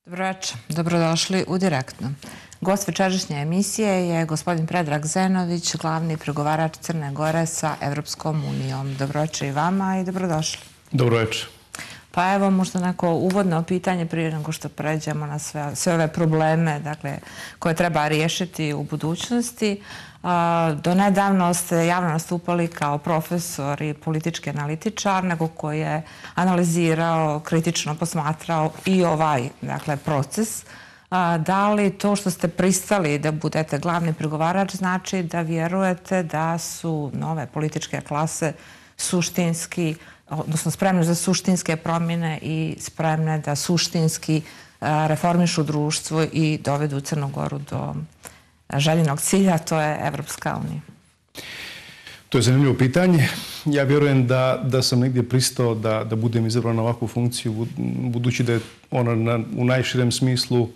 Dobro večer, dobrodošli u Direktno. Gost večerašnje emisije je gospodin Predrag Zenović, glavni pregovarač Crne Gore sa Evropskom unijom. Dobro večer i vama i dobrodošli. Dobro večer. Pa evo možda neko uvodno pitanje prije nego što pređemo na sve ove probleme koje treba riješiti u budućnosti. Do nedavno ste javno nastupali kao profesor i politički analitičar, nego koji je analizirao, kritično posmatrao i ovaj proces. Da li to što ste pristali da budete glavni pregovarač znači da vjerujete da su nove političke klase suštinski, odnosno spremne za suštinske promjene i spremne da suštinski reformišu društvo i dovedu Crnu Goru do željenog cilja, to je Evropska unija? To je zanimljivo pitanje. Ja vjerujem da sam negdje pristao da budem izabran na ovakvu funkciju, budući da je ona u najširem smislu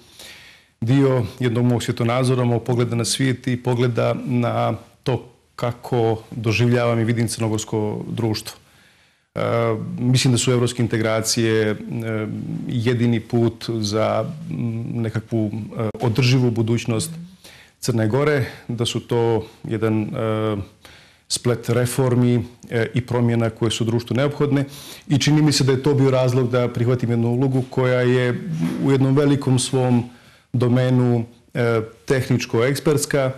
dio jednog mog svjetonazora, mog pogleda na svijet i pogleda na to kako doživljavam i vidim crnogorsko društvo. Mislim da su evropske integracije jedini put za nekakvu održivu budućnost Crne Gore, da su to jedan splet reformi i promjena koje su društvu neophodne i čini mi se da je to bio razlog da prihvatim jednu ulogu koja je u jednom velikom svom domenu tehničko-ekspertska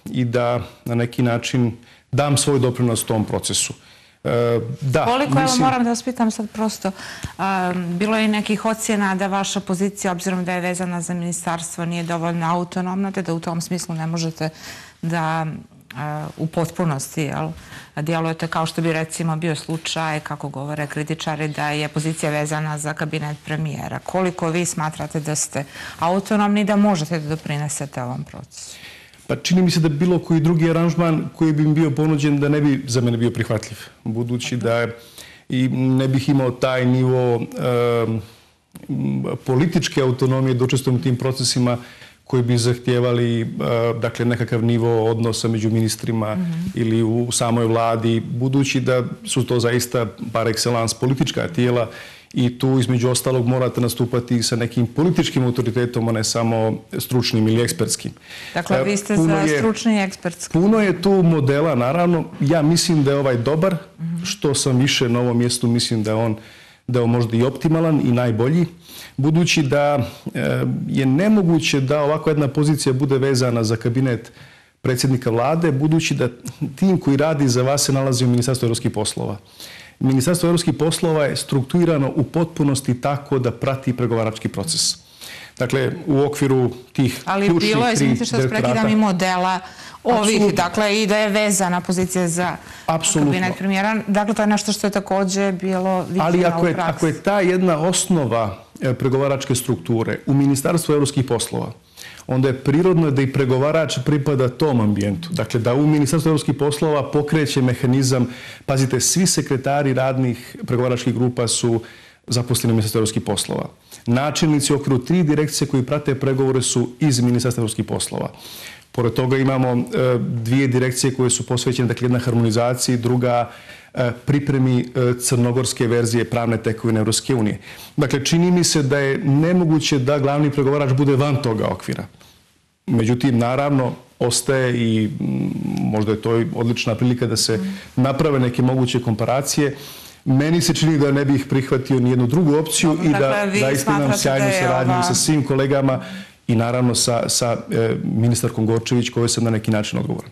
i da na neki način dam svoj doprinos tom procesu. Koliko, evo moram da vas pitam sad prosto, bilo je i nekih ocjena da vaša pozicija, obzirom da je vezana za ministarstvo, nije dovoljno autonomna, te da u tom smislu ne možete da u potpunosti djelujete kao što bi recimo bio slučaj, kako govore kritičari, da je pozicija vezana za kabinet premijera. Koliko vi smatrate da ste autonomni i da možete da doprinesete ovom procesu? Pa čini mi se da bilo koji drugi aranžman koji bi mi bio ponuđen da ne bi za mene bio prihvatljiv. Budući da i ne bih imao taj nivo političke autonomije da učestvujem u tim procesima koji bi zahtijevali nekakav nivo odnosa među ministrima ili u samoj vladi, budući da su to zaista par excellence politička tijela i tu između ostalog morate nastupati sa nekim političkim autoritetom, a ne samo stručnim ili ekspertskim. Dakle, vi ste za stručni i ekspertski. Puno je tu modela, naravno. Ja mislim da je ovaj dobar. Što sam više na ovom mjestu, mislim da je on možda i optimalan i najbolji. Budući da je nemoguće da ovako jedna pozicija bude vezana za kabinet predsjednika vlade, budući da tim koji radi za vas se nalazi u Ministarstvu evropskih poslova. Ministarstvo evropskih poslova je strukturirano u potpunosti tako da prati pregovarački proces. Dakle, u okviru tih ali ključnih bilo je, tri izvinite što prekidam, i modela ovih, dakle, i da je vezana pozicija za kabinet premijera. Dakle, to je nešto što je također bilo viđeno u praksi. Ali ako je ta jedna osnova pregovaračke strukture u Ministarstvu evropskih poslova, onda je prirodno da i pregovarač pripada tom ambijentu. Dakle, da u Ministarstvu evropskih poslova pokreće mehanizam, pazite, svi sekretari radnih pregovaračkih grupa su zaposleni u Ministarstvu evropskih poslova. Načelnici u okviru 3 direkcije koji prate pregovore su iz Ministarstva evropskih poslova. Pored toga imamo 2 direkcije koje su posvećene, dakle, jedna harmonizaciji, druga pripremi crnogorske verzije pravne tekovine Evropske unije. Dakle, čini mi se da je nemoguće da glavni pregovarač bude van toga okvira. Međutim, naravno, ostaje i možda je to odlična prilika da se naprave neke moguće komparacije. Meni se čini da ne bih prihvatio nijednu drugu opciju i da zaista imam sjajnu saradnju sa svim kolegama i naravno sa ministarkom Gorčević, kojoj sam na neki način odgovoran.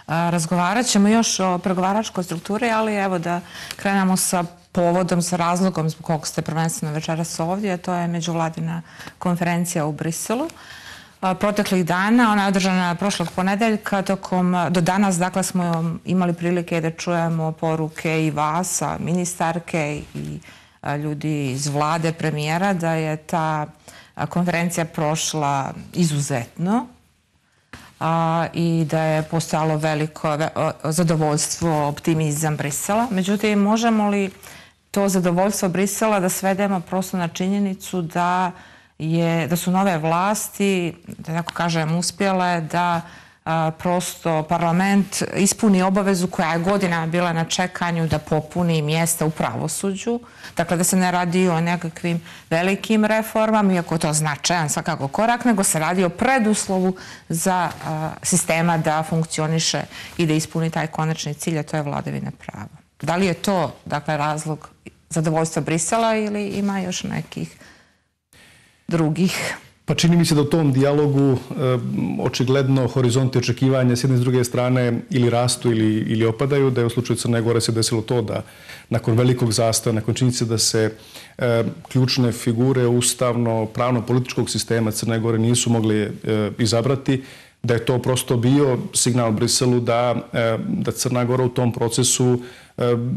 Razgovarat ćemo još o pregovaračkoj strukturi, ali evo da krenemo sa povodom, sa razlogom zbog kog ste prvenstveno večeras ovdje, a to je međuvladina konferencija u Briselu. Proteklih dana, ona je održana prošlog ponedeljka, do danas, dakle, smo imali prilike da čujemo poruke i vas, ministarke i ljudi iz vlade, premijera, da je ta konferencija prošla izuzetno i da je postojalo veliko zadovoljstvo, optimizam Brisela. Međutim, možemo li to zadovoljstvo Brisela da svedemo prosto na činjenicu da su nove vlasti, da tako kažem, uspjele da prosto parlament ispuni obavezu koja je godinama bila na čekanju da popuni mjesta u pravosuđu. Dakle, da se ne radi o nekakvim velikim reformama, iako je to značajan svakako korak, nego se radi o preduslovu za sistema da funkcioniše i da ispuni taj konačni cilj, a to je vladavina prava. Da li je to, dakle, razlog zadovoljstva Brisela ili ima još nekih drugih? Pa čini mi se da u tom dijalogu očigledno horizonti očekivanja s jedne i s druge strane ili rastu ili opadaju, da je u slučaju Crne Gore se desilo to da nakon velikog zastoja, nakon činjenice da se ključne figure ustavno, pravno, političkog sistema Crne Gore nisu mogli izabrati, da je to prosto bio signal Briselu da Crna Gora u tom procesu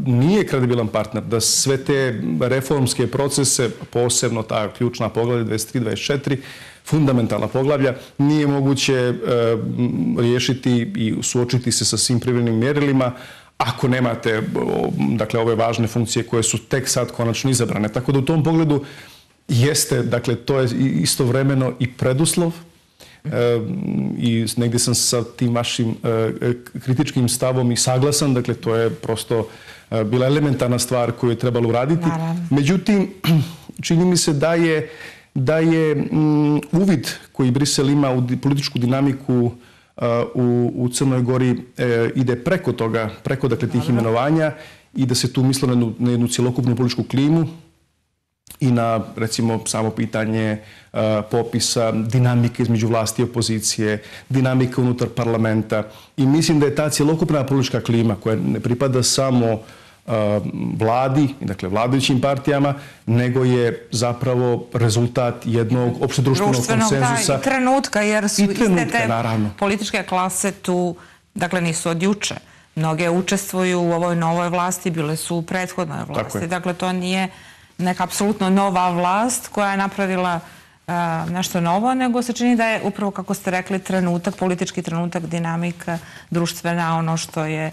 nije kredibilan partner, da sve te reformske procese, posebno ta ključna poglavlja 23, 24, fundamentalna poglavlja, nije moguće riješiti i suočiti se sa svim privremenim mjerilima ako nemate, dakle, ove važne funkcije koje su tek sad konačno izabrane. Tako da u tom pogledu jeste, dakle, to je istovremeno i preduslov i negdje sam sa tim vašim kritičkim stavom i saglasan, dakle to je prosto bila elementarna stvar koju je trebalo uraditi. Međutim, čini mi se da je uvid koji Brisel ima u političku dinamiku u Crnoj Gori ide preko toga, preko dakle tih imenovanja i da se tu mislo na jednu cjelokupnu političku klimu i na, recimo, samo pitanje popisa, dinamike između vlasti i opozicije, dinamika unutar parlamenta. I mislim da je ta cjelokupna politička klima koja ne pripada samo vladi, dakle vladajućim partijama, nego je zapravo rezultat jednog opštedruštvenog konsenzusa. I trenutka, jer su iste te političke klase tu, dakle nisu od juče. Mnoge učestvuju u ovoj novoj vlasti, bile su u prethodnoj vlasti. Dakle, to nije neka apsolutno nova vlast koja je napravila nešto novo, nego se čini da je upravo, kako ste rekli, trenutak, politički trenutak, dinamika, društvena, ono što je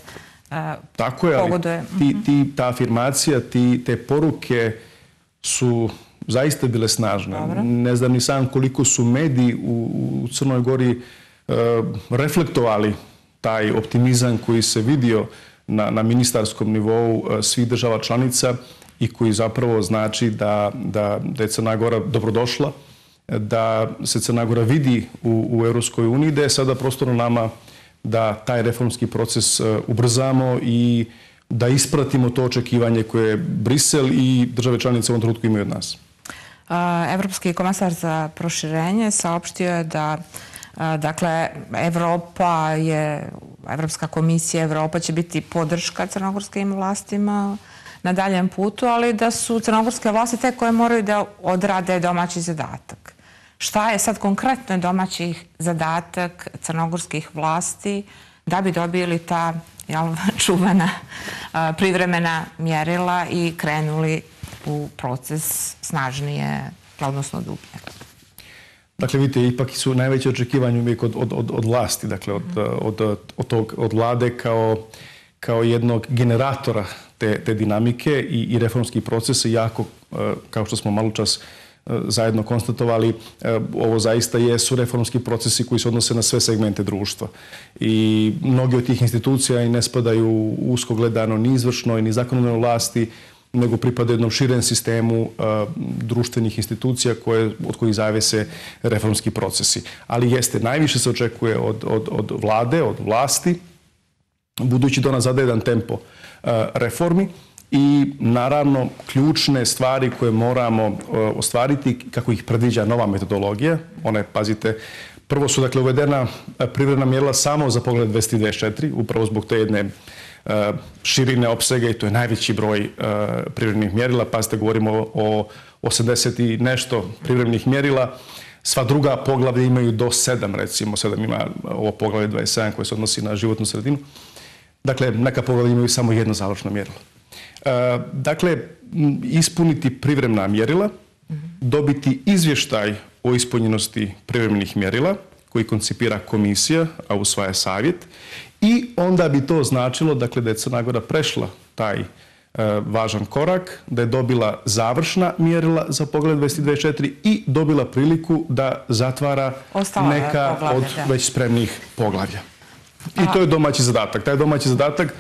tako je, pogoduje. Ali ta afirmacija, te poruke su zaista bile snažne. Dobro. Ne znam ni sam koliko su mediji u Crnoj Gori reflektovali taj optimizam koji se vidio na ministarskom nivou svih država članica i koji zapravo znači da je Crna Gora dobrodošla, da se Crna Gora vidi u Europskoj uniji, da je sada prostorno nama da taj reformski proces ubrzamo i da ispratimo to očekivanje koje Brisel i države članice u ovom trenutku imaju od nas. Evropski komesar za proširenje saopštio je da dakle, Evropska komisija Evropa će biti podrška crnogorskim vlastima na daljem putu, ali da su crnogorske vlasti te koje moraju da odrade domaći zadatak. Šta je sad konkretno domaći zadatak crnogorskih vlasti da bi dobili ta čuvena privremena mjerila i krenuli u proces snažnije, odnosno dublje? Dakle, vidite, ipak su najveće očekivanje uvijek od vlasti, dakle, od vlade kao jednog generatora te dinamike i reformskih procesa, jako, kao što smo malo čas zajedno konstatovali, ovo zaista jesu reformski procesi koji se odnose na sve segmente društva. I mnogi od tih institucija i ne spadaju usko gledano ni izvršnoj, ni zakonodavnoj vlasti, nego pripadaju jednom širem sistemu društvenih institucija od kojih zavise reformski procesi. Ali jeste, najviše se očekuje od vlade, od vlasti, budući da ona zadaje jedan tempo reformi i naravno ključne stvari koje moramo ostvariti kako ih predviđa nova metodologija. One, pazite, prvo su dakle uvedena privredna mjerila samo za pogled 224, upravo zbog te jedne širine opsega i to je najveći broj privrednih mjerila. Pazite, govorimo o 80 i nešto privrednih mjerila. Sva druga poglavlja imaju do 7, recimo 7 ima ovo poglavlje 27 koje se odnosi na životnu sredinu. Dakle, neka poglavlja imaju samo jedno završno mjerilo. Dakle, ispuniti privremena mjerila, dobiti izvještaj o ispunjenosti privremenih mjerila koji koncipira komisija, a usvaja savjet, i onda bi to značilo, dakle, da je Crna Gora prešla taj važan korak, da je dobila završna mjerila za poglavlje 23-24 i dobila priliku da zatvara neka od već spremnih poglavlja. I to je domaći zadatak. Taj domaći zadatak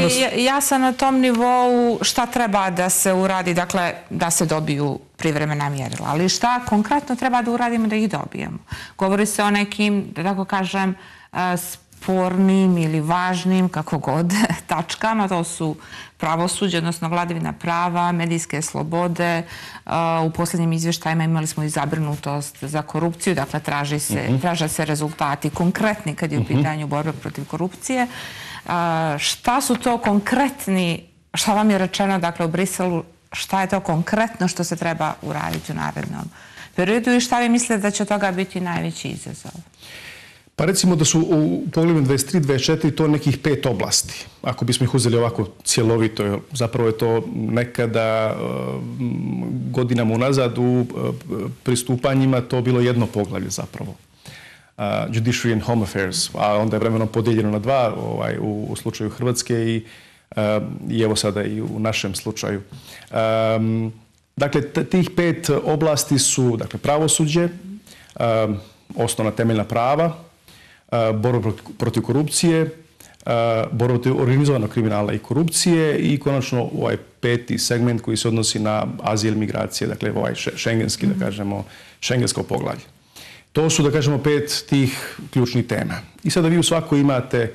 je jasan na tom nivou šta treba da se uradi, dakle da se dobiju privremena mjerila. Ali šta konkretno treba da uradimo da ih dobijemo? Govori se o nekim, da tako kažem, spornim ili važnim, kako god, tačkama. To su pravosuđe, odnosno vladavina prava, medijske slobode. U posljednjim izvještajima imali smo i zabrinutost za korupciju, dakle traže se rezultati konkretni kad je u pitanju borbe protiv korupcije. Šta su to konkretni, šta vam je rečeno, dakle, u Briselu, šta je to konkretno što se treba uraditi u narednom periodu i šta vi mislite da će od toga biti najveći izazov? Pa recimo da su u poglavlju 23-24 to nekih 5 oblasti. Ako bismo ih uzeli ovako cjelovito, zapravo je to nekada godinama unazad u pristupanjima to bilo jedno poglavlje zapravo. Judiciary and Home Affairs, a onda je vremenom podijeljeno na 2 u slučaju Hrvatske i evo sada i u našem slučaju. Dakle, tih 5 oblasti su pravosuđe, osnovna temeljna prava, borba protiv korupcije, borba protiv organizovanog kriminala i korupcije i konačno ovaj 5. segment koji se odnosi na azil, migracije, dakle ovaj šengenski, da kažemo, šengensko poglavlje. To su, da kažemo, 5 tih ključnih tema. I sada vi u svakoj imate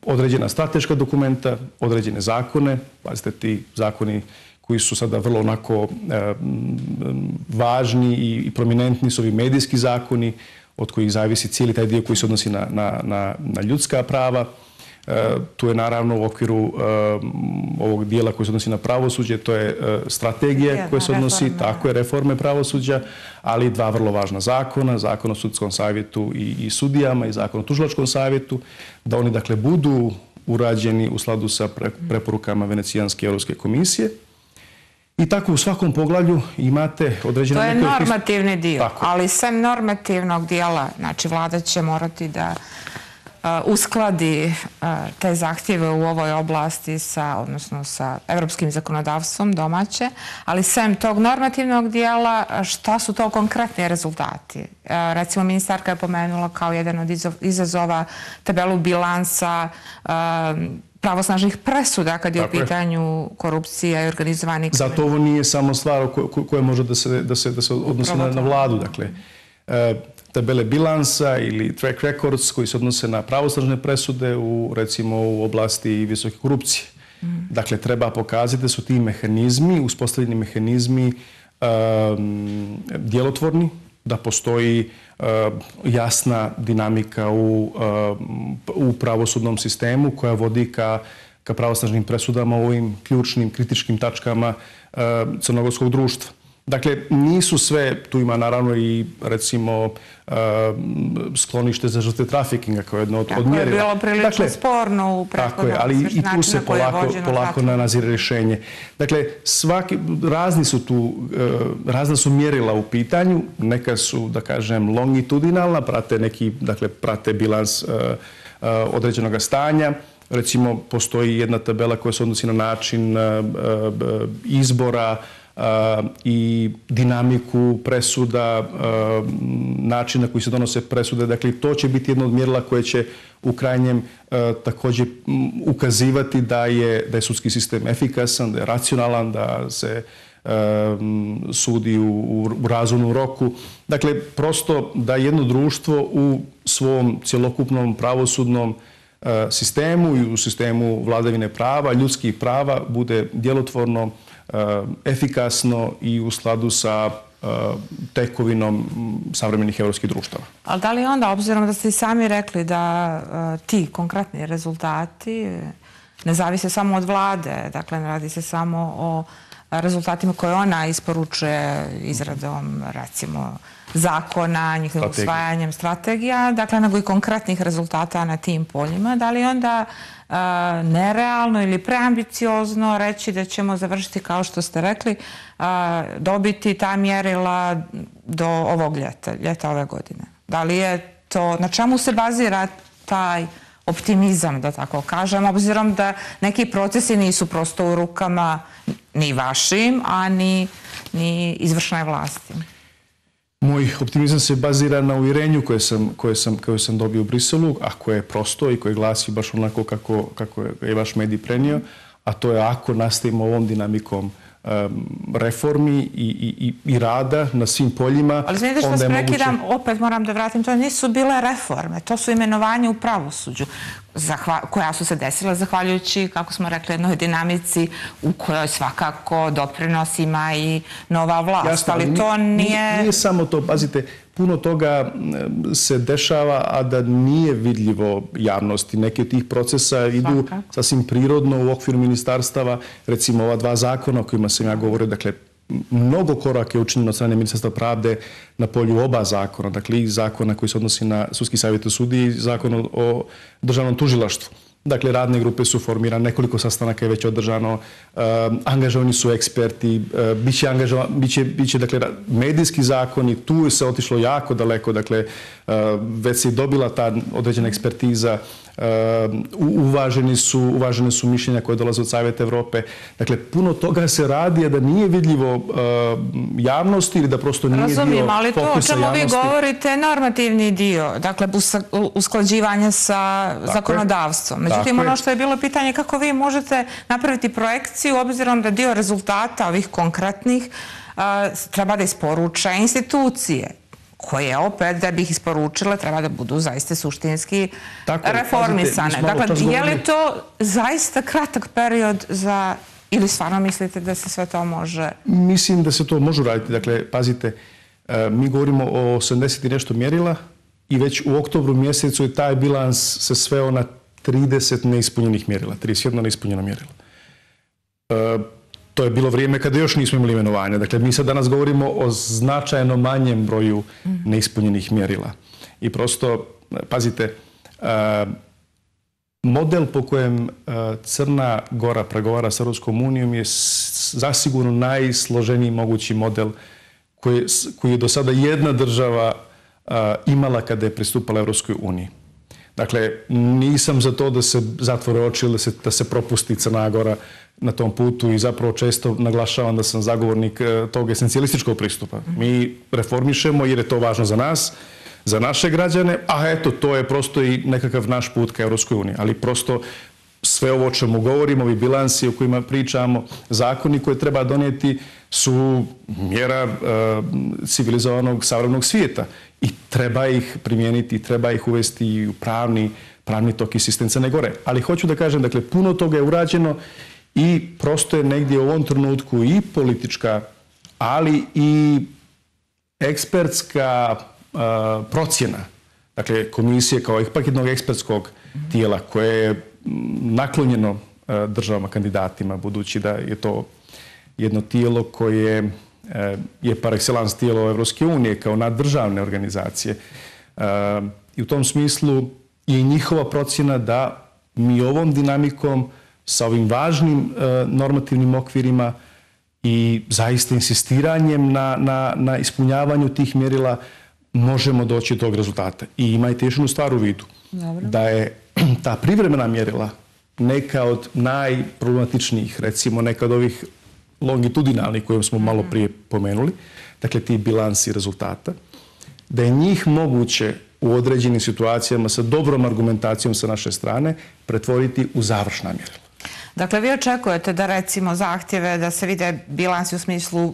određena strateška dokumenta, određene zakone, pazite, ti zakoni koji su sada vrlo onako važni i prominentni su ovi medijski zakoni, od kojih zavisi cijeli taj dio koji se odnosi na ljudska prava. Tu je naravno u okviru ovog dijela koji se odnosi na pravosuđe, to je strategija koja se odnosi, tako je, reforme pravosuđa, ali 2 vrlo važna zakona, Zakon o sudskom savjetu i sudijama i Zakon o tužilačkom savjetu, da oni dakle budu urađeni u skladu sa preporukama Venecijanske Europske komisije. I tako u svakom poglavlju imate određene... To je normativni dio, ali sem normativnog dijela, znači vlada će morati da uskladi te zahtjeve u ovoj oblasti odnosno sa evropskim zakonodavstvom domaće, ali sem tog normativnog dijela, šta su to konkretni rezultati? Recimo, ministarka je pomenula kao jedan od izazova tabelu bilansa pravosnažnih presuda kad je u pitanju korupcija i organizovani kriminal. Zato ovo nije samo stvar koja može da se odnosi na vladu. Dakle, tabele bilansa ili track records koji se odnose na pravosnažne presude recimo u oblasti visoke korupcije. Dakle, treba pokazati da su ti mehanizmi, uspostavljeni mehanizmi djelotvorni, da postoji jasna dinamika u pravosudnom sistemu koja vodi ka pravosnažnim presudama u ovim ključnim, kritičkim tačkama crnogorskog društva. Dakle, nisu sve, tu ima naravno i recimo sklonište za žrtve trafikinga kao jedno od mjerila. Tako je bilo prilično sporno u prethodnom ali i tu se polako nazire rješenje. Dakle, razna su mjerila u pitanju, neka su, da kažem, longitudinalna, prate bilans određenog stanja. Recimo, postoji jedna tabela koja se odnosi na način izbora i dinamiku presuda, način na koji se donose presude. Dakle, to će biti jedno od mjerila koje će u krajnjem također ukazivati da je sudski sistem efikasan, da je racionalan, da se sudi u razumnom roku. Dakle, prosto da jedno društvo u svom cjelokupnom pravosudnom sistemu i u sistemu vladavine prava, ljudskih prava bude djelotvorno, efikasno i u skladu sa tekovinom savremenih europskih društava. Ali da li onda, obzirom da ste i sami rekli da ti konkretni rezultati ne zavise samo od vlade, dakle ne radi se samo o rezultatima koje ona isporučuje izradom, recimo, zakona, njihovim usvajanjem strategija, dakle, nego i konkretnih rezultata na tim poljima. Da li onda nerealno ili preambiciozno reći da ćemo završiti, kao što ste rekli, dobiti ta mjerila do ovog ljeta ove godine? Da li je to, na čemu se bazira taj optimizam, da tako kažem, obzirom da neki procesi nisu prosto u rukama ni vašim, a ni izvršnoj vlasti. Moj optimizam se bazira na uvjerenju koje sam dobio u Briselu, a koje je prosto i koje glasi baš onako kako je vaš medij prenio, a to je ako nastavimo ovom dinamikom reformi i rada na svim poljima. Ali znate što vas prekidam, opet moram da vratim, to nisu bile reforme, to su imenovanje u pravosuđu koja su se desila zahvaljujući, kako smo rekli, jednoj dinamici u kojoj svakako doprinos ima i nova vlast. Jasno, ali to nije... Nije samo to, pazite, puno toga se dešava, a da nije vidljivo javnosti. Neki od tih procesa idu sasvim prirodno u okviru ministarstava, recimo ova 2 zakona o kojima sam ja govorio, dakle, mnogo koraka je učinjeno od strane Ministarstva pravde na polju oba zakona, dakle i zakona koji se odnosi na sudski savjet u sudiji i zakon o državnom tužilaštvu. Dakle, radne grupe su formirane, nekoliko sastanaka je već održano, angažovani su eksperti, biće dakle, medijski zakoni, tu se otišlo jako daleko, dakle, već se i dobila ta određena ekspertiza, uvažene su mišljenja koje dolaze od Savjeta Evrope. Dakle, puno toga se radi, a da nije vidljivo javnosti ili da prosto nije dio fokusa javnosti. Razumijem, ali to o čemu vi govorite je normativni dio, dakle, usklađivanje sa zakonodavstvom. Međutim, ono što je bilo pitanje kako vi možete napraviti projekciju obzirom da dio rezultata ovih konkretnih treba da isporuče institucije, koje opet, da bi ih isporučile, treba da budu zaista suštinski reformisane. Dakle, je li to zaista kratak period za... Ili stvarno mislite da se sve to može... Mislim da se to može raditi. Dakle, pazite, mi govorimo o 80 i nešto mjerila i već u oktobru mjesecu je taj bilans se sveo na 30 neispunjenih mjerila, 31 neispunjena mjerila. To je bilo vrijeme kada još nismo imali imenovanja. Dakle, mi sad danas govorimo o značajno manjem broju neispunjenih mjerila. I prosto, pazite, model po kojem Crna Gora pregovara s Europskom unijom je zasigurno najsloženiji mogući model koji je do sada jedna država imala kada je pristupala Europskoj uniji. Dakle, nisam za to da se zatvore oči ili da se propusti Crna Gora na tom putu i zapravo često naglašavam da sam zagovornik tog esencijalističkog pristupa. Mi reformišemo jer je to važno za nas, za naše građane, a eto, to je prosto i nekakav naš put ka Europskoj uniji. Ali prosto sve ovo o čemu govorimo, ovi bilansi o kojima pričamo, zakoni koje treba donijeti su mjera civilizovanog savremenog svijeta i treba ih primijeniti, treba ih uvesti u pravni tok i sistem Crne Gore. Ali hoću da kažem, dakle, puno toga je urađeno i prosto je negdje u ovom trenutku i politička, ali i ekspertska procjena, dakle, komisije kao ipak jednog ekspertskog tijela koje je naklonjeno državama kandidatima, budući da je to jedno tijelo koje je par excellence tijelo Evropske unije kao naddržavne organizacije. I u tom smislu je njihova procjena da mi ovom dinamikom sa ovim važnim normativnim okvirima i zaista insistiranjem na ispunjavanju tih mjerila možemo doći do tog rezultata. I imajte još jednu stvar u vidu. Da je ta privremena mjerila neka od najproblematičnijih, recimo neka od ovih longitudinalnih koje smo malo prije pomenuli, dakle ti bilansi rezultata, da je njih moguće u određenim situacijama sa dobrom argumentacijom sa naše strane pretvoriti u završna mjerila. Dakle, vi očekujete da recimo zahtjeve da se vide bilansi u smislu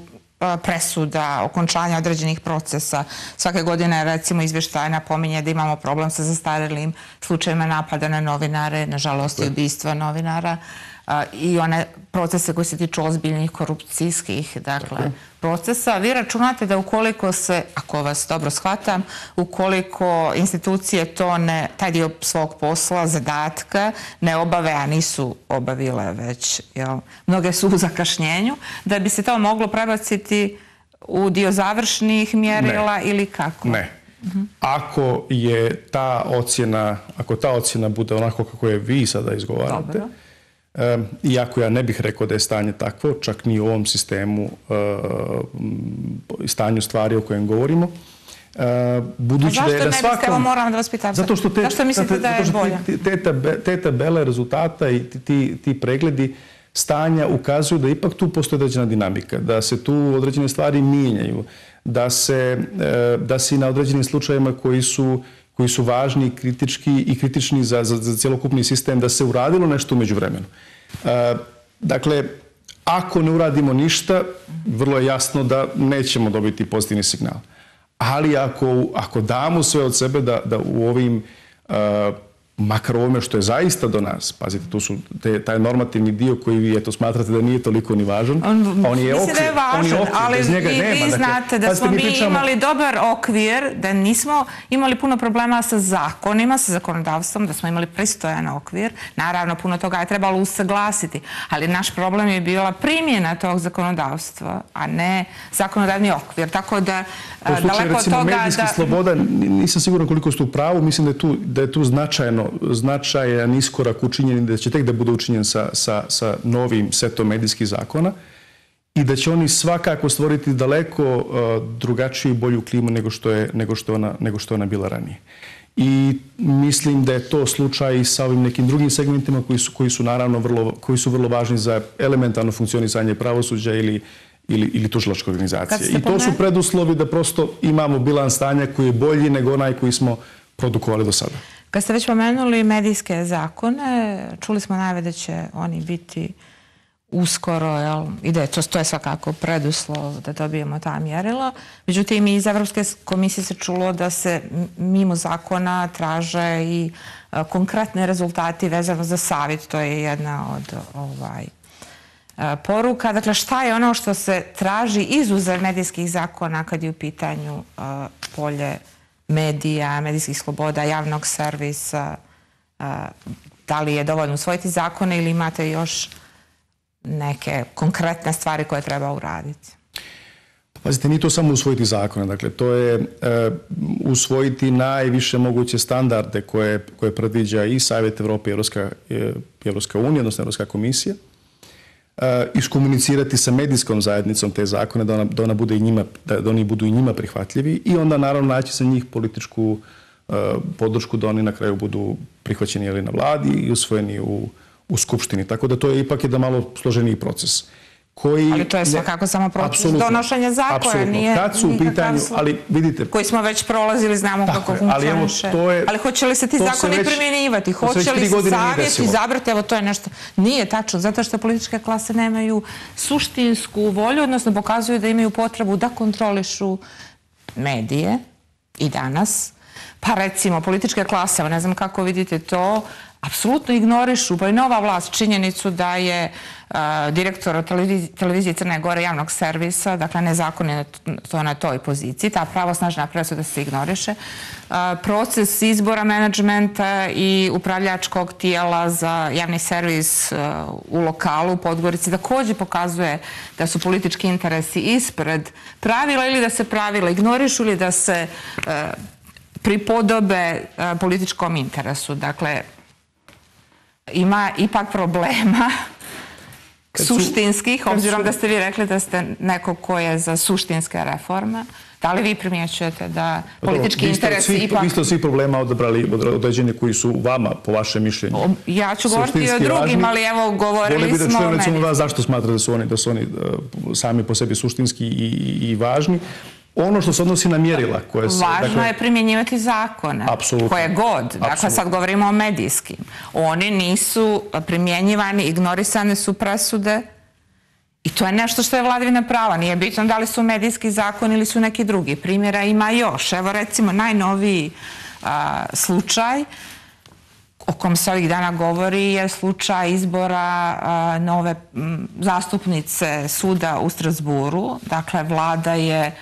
presuda, okončanja određenih procesa. Svake godine, recimo, izvještaj napominje da imamo problem sa zastarelim slučajima napada na novinare, nažalost i ubistva novinara i one procese koji se tiču ozbiljnih korupcijskih procesa. Vi računate da ukoliko se, ako vas dobro shvatam, ukoliko institucije taj dio svog posla, zadatka, ne obave, a nisu obavile već, mnoge su u zakašnjenju, da bi se to moglo prebaciti u dio završnih mjerila ili kako? Ne. Ako je ta ocjena bude onako kako je vi sada izgovarate, iako ja ne bih rekao da je stanje takvo, čak ni u ovom sistemu i stanju stvari o kojem govorimo, Budući da je da svakom... Zašto ne biste, moram da vas pitam, zašto mislite da je bolje? Te tabele rezultata i ti pregledi stanja ukazuju da ipak tu postoji određena dinamika, da se tu određene stvari mijenjaju, da se na određenim slučajevima koji su važni i kritični za cjelokupni sistem, da se uradilo nešto u međuvremenu. Dakle, ako ne uradimo ništa, vrlo je jasno da nećemo dobiti pozitivni signal. Ali ako damo sve od sebe da u ovim, makar ovome što je zaista do nas, pazite, tu su taj normativni dio koji vi smatrate da nije toliko ni važan, on je okvir. Mislim da je važan, ali vi znate da smo mi imali dobar okvir, da nismo imali puno problema sa zakonima, sa zakonodavstvom, da smo imali pristojan okvir. Naravno, puno toga je trebalo usaglasiti, ali naš problem je bila primjena tog zakonodavstva, a ne zakonodavni okvir. Tako da, daleko od toga medijskih sloboda, nisam siguran koliko ste u pravu, mislim da je tu značajan iskorak učinjen, da će tek da bude učinjen sa novim setom medijskih zakona i da će oni svakako stvoriti daleko drugačiju i bolju klimu nego što je ona bila ranije. I mislim da je to slučaj i sa ovim nekim drugim segmentima koji su vrlo važni za elementarno funkcionisanje pravosuđa ili tužilačke organizacije. I to su preduslovi da prosto imamo bilans stanja koji je bolji nego onaj koji smo produkovali do sada. Kad ste već pomenuli medijske zakone, čuli smo najave da će oni biti uskoro, i da je to svakako preduslov da dobijemo ta mjerila. Međutim, iz Evropske komisije se čulo da se mimo zakona traže i konkretne rezultati vezano za savjet. To je jedna od poruka. Dakle, šta je ono što se traži izuzev medijskih zakona kad je u pitanju polje medija, medijskih sloboda, javnog servisa? Da li je dovoljno usvojiti zakone ili imate još neke konkretne stvari koje treba uraditi? Pazite, nije to samo usvojiti zakone. Dakle, to je usvojiti najviše moguće standarde koje predviđa i Savjet Evrope i Evropska unija, odnosno Evropska komisija. Iskomunicirati sa medijskom zajednicom te zakone, da oni budu i njima prihvatljivi i onda naravno naći sa njih političku podršku da oni na kraju budu prihvaćeni na vladi i usvojeni u Skupštini. Tako da to je ipak jedan malo složeniji proces. Ali to je svakako samo proces donošenja zakona, nije pitanju, ali vidite... Koji smo već prolazili, znamo kako funkcioniše. Ali hoće li se ti zakoni primjenjivati? Hoće li se savjet izabrati? Evo, to je nešto... Nije tačno, zato što političke klase nemaju suštinsku volju, odnosno pokazuju da imaju potrebu da kontrolišu medije i danas. Pa recimo, političke klase, ne znam kako vidite to, apsolutno ignorišu, pa i nova vlast, činjenicu da je direktor televizije Crne Gore javnog servisa, dakle nezakonito na toj poziciji, ta pravosnažna presuda se ignoriše. Proces izbora menadžmenta i upravljačkog tijela za javni servis u lokalu u Podgorici također pokazuje da su politički interesi ispred pravila ili da se pravila ignorišu ili da se pripodobe političkom interesu. Dakle, ima ipak problema suštinskih, obzirom da ste vi rekli da ste neko ko je za suštinske reforme. Da li vi primjećujete da politički interesi ipak... Vi ste od svih problema odabrali određene koji su vama, po vašem mišljenju, ja ću govoriti o drugim, ali evo govorili smo... Volio bi da čujem vas zašto smatrate da su oni sami po sebi suštinski i važni. Ono što se odnosi na mjerila koje se... Važno je primjenjivati zakone. Koje god. Dakle, sad govorimo o medijskim. Oni nisu primjenjivani, ignorisane su presude i to je nešto što je vladavina prava. Nije bitno da li su medijski zakon ili su neki drugi. Primjera ima još. Evo recimo najnoviji slučaj o kom se ovih dana govori je slučaj izbora nove zastupnice suda u Strasburu. Dakle, vlada je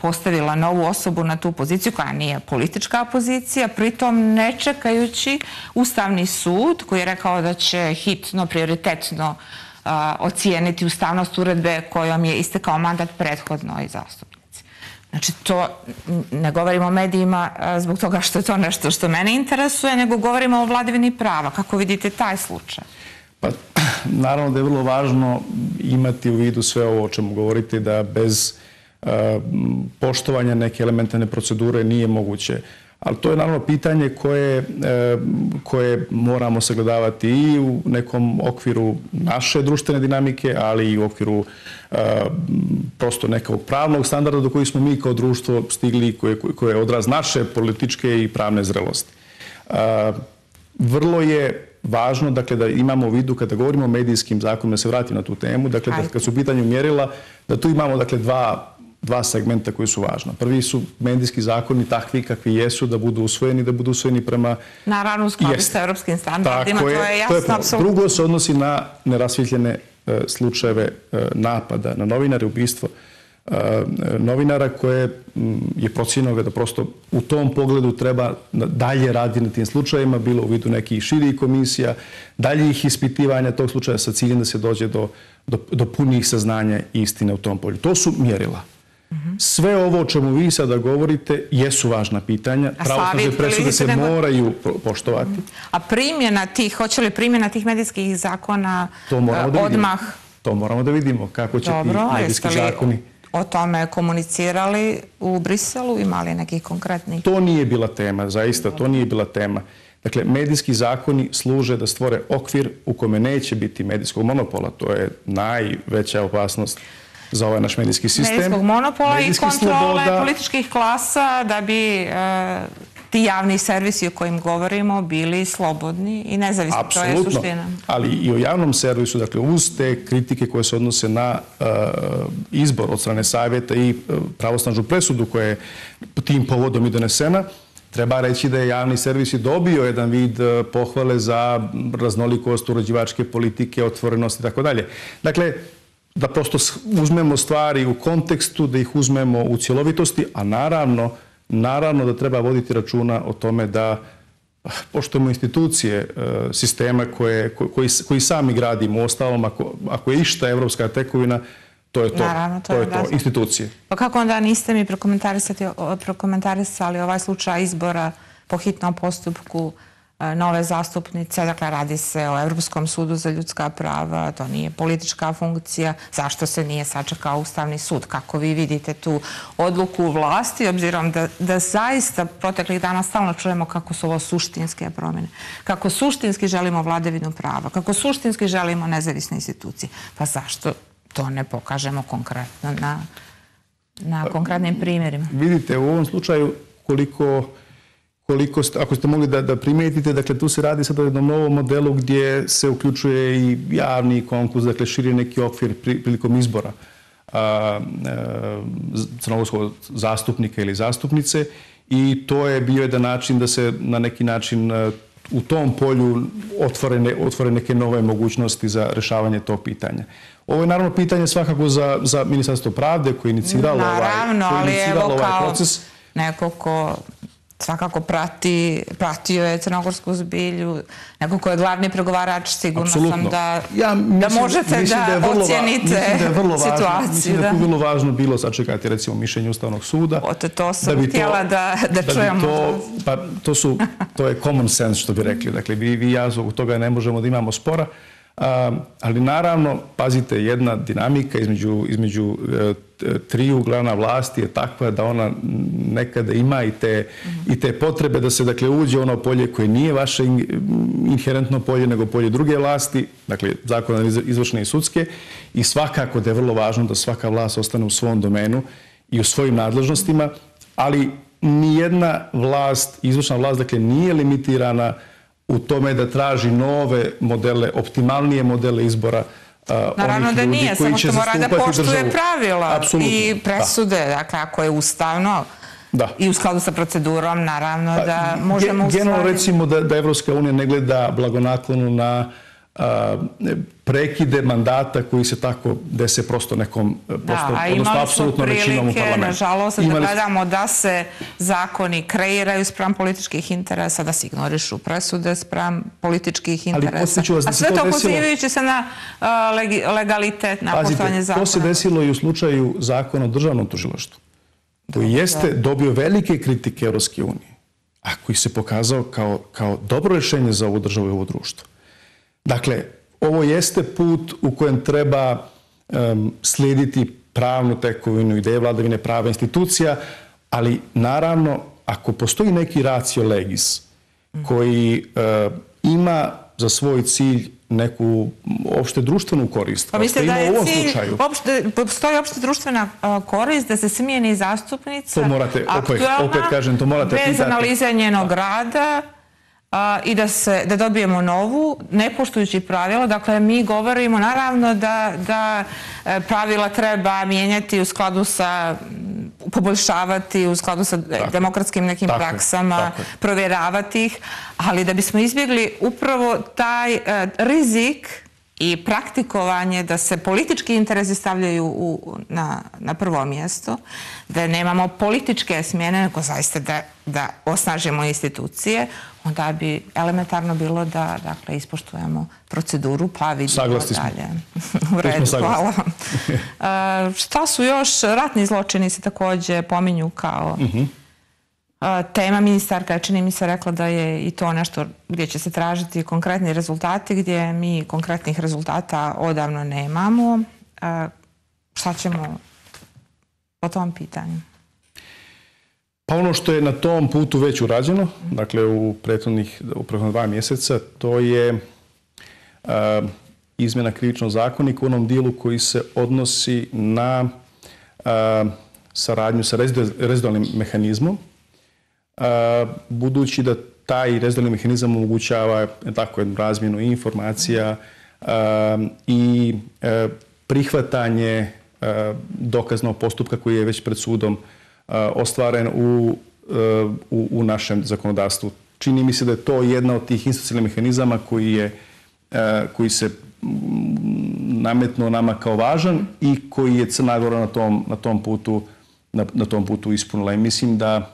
postavila novu osobu na tu poziciju koja nije politička pozicija, pritom ne čekajući Ustavni sud koji je rekao da će hitno, prioritetno ocijeniti ustavnost uredbe kojom je istekao mandat prethodnoj zastupnici. Znači, to ne govorimo o medijima zbog toga što je to nešto što mene interesuje, nego govorimo o vladavini prava. Kako vidite taj slučaj? Pa, naravno da je vrlo važno imati u vidu sve ovo o čemu govorite, da bez poštovanja neke elementarne procedure nije moguće. Ali to je naravno pitanje koje moramo sagledavati i u nekom okviru naše društvene dinamike, ali i u okviru prosto nekog pravnog standarda do kojih smo mi kao društvo stigli, koje je odraz naše političke i pravne zrelosti. Vrlo je važno, dakle, da imamo u vidu kada govorimo o medijskim zakonima, da se vratim na tu temu, dakle, kad su u pitanju mjerila, da tu imamo, dakle, dva segmenta koji su važna. Prvi su medijski zakoni takvi kakvi jesu, da budu usvojeni prema... Naravno, u skladu sa europskim standardima, to je jasno, apsolutno. Drugo se odnosi na nerasvjetljene slučajeve napada na novinare, ubistvo novinara, koje je procijenjeno da prosto u tom pogledu treba dalje raditi na tim slučajevima, bilo u vidu nekih širih komisija, daljih ispitivanja tog slučaja sa ciljem da se dođe do punijih saznanja i istine u tom polju. To su mjerila. Sve ovo o čemu vi sada govorite jesu važna pitanja. Pravosudne presude se moraju poštovati. A primjena tih, hoće li primjena tih medijskih zakona odmah? To moramo da vidimo kako će ti medijski zakoni... O tome komunicirali u Briselu, imali nekih konkretnih... To nije bila tema, zaista, to nije bila tema. Dakle, medijski zakoni služe da stvore okvir u kome neće biti medijskog monopola. To je najveća opasnost za ovaj naš medijski sistem. Medijskog monopola i kontrole političkih klasa da bi ti javni servisi o kojim govorimo bili slobodni i nezavisni. To je suština. Ali i o javnom servisu, dakle, uz te kritike koje se odnose na izbor od strane savjeta i pravosnažnu presudu koja je tim povodom i donesena, treba reći da je javni servis i dobio jedan vid pohvale za raznolikost uređivačke politike, otvorenost i tako dalje. Dakle, da prosto uzmemo stvari u kontekstu, da ih uzmemo u cjelovitosti, a naravno da treba voditi računa o tome da poštujemo institucije sistema koji sami gradimo. Uostalom, ako je išta evropska tekovina, to je to, institucije. Pa kako onda niste mi prokomentarisali ovaj slučaj izbora po hitnom postupku nove zastupnice? Dakle, radi se o Europskom sudu za ljudska prava, to nije politička funkcija. Zašto se nije sačekao Ustavni sud? Kako vi vidite tu odluku vlasti, obzirom da zaista proteklih dana stalno čujemo kako su ovo suštinske promjene, kako suštinski želimo vladavinu prava, kako suštinski želimo nezavisne institucije. Pa zašto to ne pokažemo konkretno na konkretnim primjerima? Vidite, u ovom slučaju ako ste mogli da primijetite, dakle, tu se radi sad o jednom novom modelu gdje se uključuje i javni konkurs, dakle, širi neki okvir prilikom izbora crnogorskog zastupnika ili zastupnice, i to je bio jedan način da se na neki način u tom polju otvore neke nove mogućnosti za rješavanje tog pitanja. Ovo je naravno pitanje svakako za Ministarstvo pravde koje je iniciralo ovaj proces. Neko ko svakako pratio je crnogorsku zbilju, neko ko je glavni pregovarač, sigurno sam da možete da ocijenite situaciju. Mislim da je vrlo važno bilo sačekati, recimo, mišljenje Ustavnog suda. To sam htjela da čujemo. To je common sense, što bi rekli. Dakle, vi i ja zbog toga ne možemo da imamo spora. Ali naravno, pazite, jedna dinamika između triju glavna vlasti je takva da ona nekada ima i te potrebe da se, dakle, uđe u ono polje koje nije vaše inherentno polje, nego polje druge vlasti, dakle, zakona izvršne i sudske, i svakako da je vrlo važno da svaka vlast ostane u svom domenu i u svojim nadležnostima, ali nijedna vlast, izvršna vlast, dakle, nije limitirana u tome da traži nove modele, optimalnije modele izbora naravno da nije, samo što mora da poštuje pravila i presude. Dakle, ako je ustavno i u skladu sa procedurom, naravno da možemo usvojiti. Generalno, recimo da Evropska unija ne gleda blagonaklono na prekide mandata koji se tako dese prosto nekom, odnosno apsolutno većinom u parlamentu. Imali smo prilike, nažalost, da gledamo da se zakoni kreiraju spram političkih interesa, da se ignorišu presude spram političkih interesa. A sve to pozivajući se na legalitet, na poštovanje zakona. To se desilo i u slučaju zakona o državnom tužilaštvu, koji jeste dobio velike kritike Evropske unije, a koji se pokazao kao dobro rješenje za ovu državu i ovo društvo. Dakle, ovo jeste put u kojem treba slijediti pravnu tekovinu, ideje vladavine prava institucija, ali naravno ako postoji neki ratio legis koji ima za svoj cilj neku opšte društvenu korist. Pa mislite da je cilj, postoji opšte društvena korist da se smijeni zastupnica aktualna, bez analize njenog rada i da dobijemo novu, ne poštujući pravila. Dakle, mi govorimo naravno da pravila treba mijenjati u skladu sa, poboljšavati u skladu sa demokratskim nekim praksama, provjeravati ih, ali da bismo izbjegli upravo taj rizik i praktikovanje da se politički interesi stavljaju na prvo mjesto, da nemamo političke smjene, nego zaista da osnažimo institucije, onda bi elementarno bilo da ispoštujemo proceduru pa vidimo dalje. U redu, hvala. Šta su još? Ratni zločini se također pominju kao tema. Ministarka je, čini mi se, rekla da je i to nešto gdje će se tražiti konkretni rezultati, gdje mi konkretnih rezultata odavno nemamo. Šta ćemo po tom pitanju? Pa ono što je na tom putu već urađeno, dakle u prethodnih 2 mjeseca, to je izmjena krivičnog zakonika u onom dijelu koji se odnosi na saradnju sa rezidualnim mehanizmom, budući da taj rezidualni mehanizam omogućava jednu razmjenu informacija i prihvatanje dokaznog postupka koji je već pred sudom ostvaren u našem zakonodavstvu. Čini mi se da je to jedna od tih institucionalnih mehanizama koji se nametnuo nama kao važan i koji je Crna Gora na tom putu ispunila. I mislim da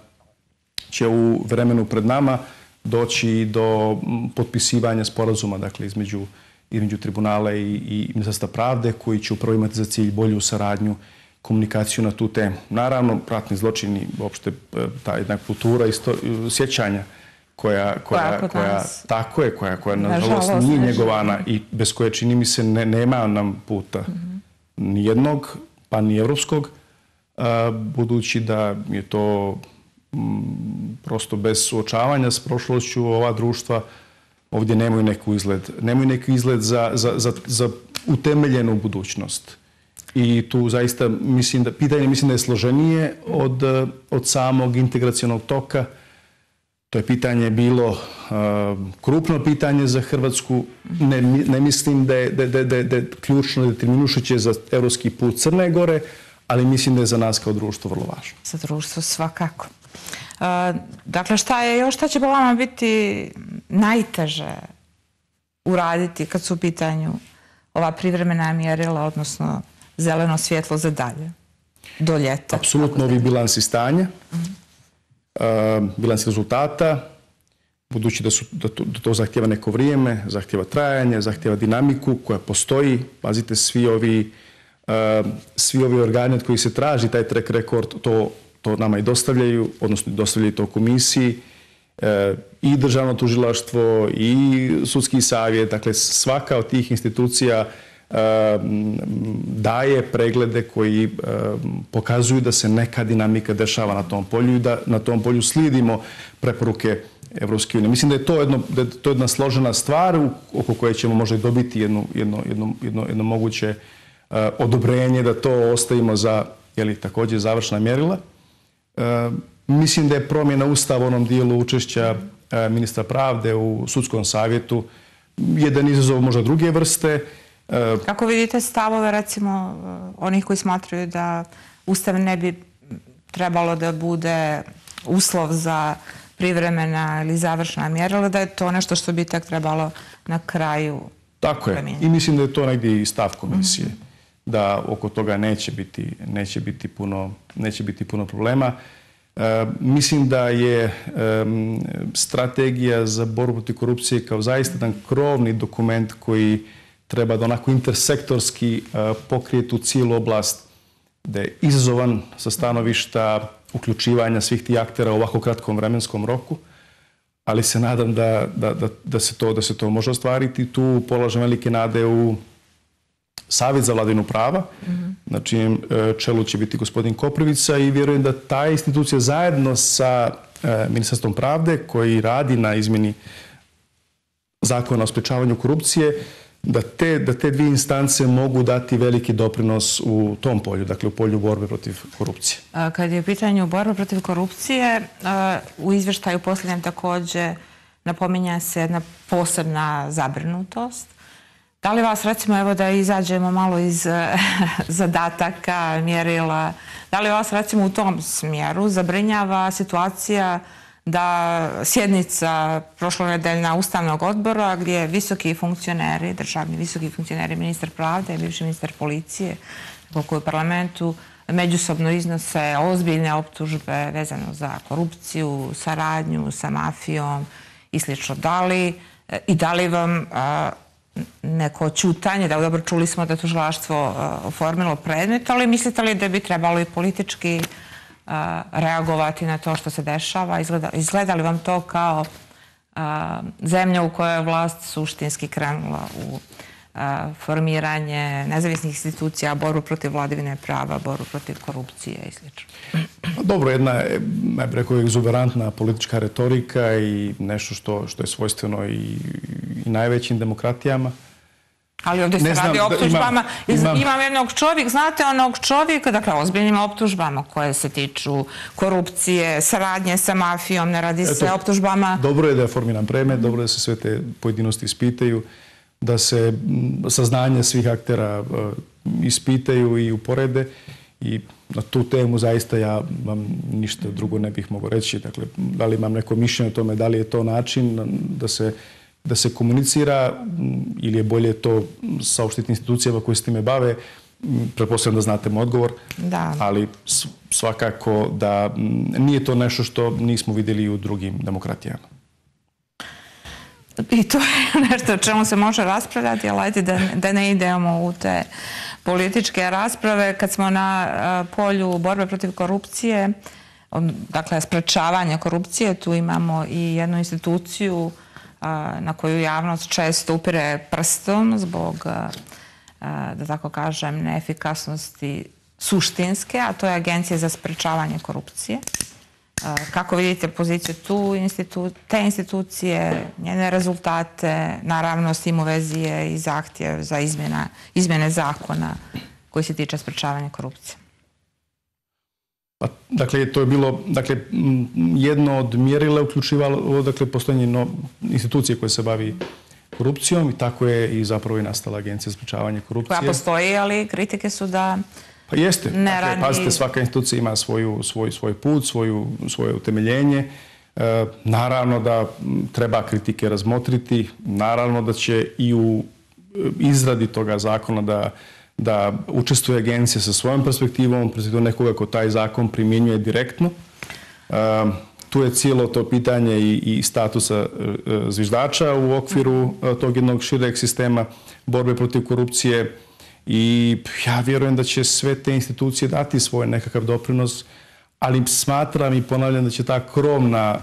će u vremenu pred nama doći do potpisivanja sporazuma, dakle, između tribunala i Ministarstva pravde, koji će upravo imati za cilj bolju saradnju, komunikaciju na tu temu. Naravno, ratni zločini, uopšte ta jedna kultura sjećanja koja nažalost nije njegovana i bez koje, čini mi se, nema nam puta ni jednog, pa ni evropskog, budući da je to prosto bez suočavanja s prošlošću ova društva ovdje nemaju neki izgled za utemeljenu budućnost. I tu zaista pitanje mislim da je složenije od samog integracionog toka. To je pitanje bilo krupno pitanje za Hrvatsku. Ne mislim da je ključno determinušuće za evropski put Crne Gore, ali mislim da je za nas kao društvo vrlo važno. Za društvo svakako. Dakle, šta će po vama biti najteže uraditi kad su u pitanju ova privremena mjerila, odnosno zeleno svjetlo za dalje, do ljeta? Apsolutno ovi bilansi stanja, bilansi rezultata, budući da to zahtjeva neko vrijeme, zahtjeva trajanje, zahtjeva dinamiku koja postoji. Pazite, svi ovi organi od kojih se traži taj track record, to nama i dostavljaju, odnosno dostavljaju to komisiji, i državno tužilaštvo i sudski savjet. Dakle, svaka od tih institucija daje preglede koji pokazuju da se neka dinamika dešava na tom polju i da na tom polju slijedimo preporuke Evropske unije. Mislim da je to jedna složena stvar oko koje ćemo možda i dobiti jedno moguće odobrenje da to ostavimo za također završna mjerila. Mislim da je promjena Ustava u onom dijelu učešća ministra pravde u sudskom savjetu jedan izazov možda druge vrste. Kako vidite stavove, recimo, onih koji smatraju da Ustav ne bi trebalo da bude uslov za privremena ili završna mjerila, da je to nešto što bi tek trebalo na kraju promijeniti? Tako je. I mislim da je to negdje i stav komisije, da oko toga neće biti puno problema. Mislim da je strategija za borbu protiv korupcije kao zaista jedan krovni dokument koji treba da onako intersektorski pokrije tu cijelu oblast, da je izazovan sa stanovišta uključivanja svih tih aktera u ovako kratkom vremenskom roku, ali se nadam da se to može ostvariti. Tu polažem velike nade u Savjet za vladavinu prava, na čijem čelu će biti gospodin Koprivica i vjerujem da ta institucija zajedno sa Ministarstvom pravde koji radi na izmjeni zakona o sprečavanju korupcije, da te dvije instance mogu dati veliki doprinos u tom polju, dakle u polju borbe protiv korupcije. Kad je u pitanju borbe protiv korupcije, u izvještaju posljednjem također napominja se jedna posebna zabrinutost. Da li vas, recimo, evo da izađemo malo iz zadataka, mjerila, da li vas, recimo, u tom smjeru zabrinjava situacija da sjednica prošlonedeljna Ustavnog odbora gdje visoki funkcioneri, državni visoki funkcioneri, ministar pravde, bivši ministar policije, koji u parlamentu međusobno iznose ozbiljne optužbe vezano za korupciju, saradnju sa mafijom i slično. Da li vam neko ćutanje, da dobro čuli smo da je tužilaštvo oformilo predmet, ali mislite li da bi trebalo i politički reagovati na to što se dešava? Izgleda li vam to kao zemlja u kojoj je vlast suštinski krenula u formiranje nezavisnih institucija, borbu protiv vladavine prava, borbu protiv korupcije i sl.? Dobro, jedna je, ja bih rekao, egzuberantna politička retorika i nešto što je svojstveno i najvećim demokratijama. Ali ovdje se radi o optužbama. Imam jednog čovjeka, znate onog čovjeka, dakle ozbiljnim optužbama koje se tiču korupcije, saradnje sa mafijom, ne radi se o optužbama. Dobro je da je formiran predmet, dobro je da se sve te pojedinosti ispitaju, da se saznanje svih aktera ispitaju i uporede i na tu temu zaista ja vam ništa drugo ne bih mogao reći. Dakle, da li imam neko mišljenje o tome, da li je to način da se komunicira ili je bolje to saopštiti institucijama koje se time bave, pretpostavljam da znate moj odgovor, ali svakako da nije to nešto što nismo vidjeli u drugim demokratijama. I to je nešto o čemu se može raspravljati, ali ajde da ne idemo u te političke rasprave. Kad smo na polju borbe protiv korupcije, dakle sprečavanja korupcije, tu imamo i jednu instituciju na koju javnost često upire prstom zbog, da tako kažem, neefikasnosti suštinske, a to je Agencija za sprečavanje korupcije. Kako vidite poziciju te institucije, njene rezultate, naravno s tim u vezi je i zahtjev za izmjene zakona koji se tiče sprečavanja korupcije? Dakle, to je bilo, jedno od mjerila uključivalo, postojanje institucije koje se bavi korupcijom i tako je i zapravo i nastala Agencija za sprečavanje korupcije. Koja postoji, ali kritike su da pa jeste. Dakle, pazite, svaka institucija ima svoj put, svoje utemeljenje. Naravno da treba kritike razmotriti. Naravno da će i u izradi toga zakona da učestvuje agencija sa svojom perspektivom nekoga ko taj zakon primjenjuje direktno. Tu je cijelo to pitanje i statusa zviždača u okviru tog jednog šireg sistema borbe protiv korupcije i ja vjerujem da će sve te institucije dati svoj nekakav doprinos, ali smatram i ponavljam da će ta krovna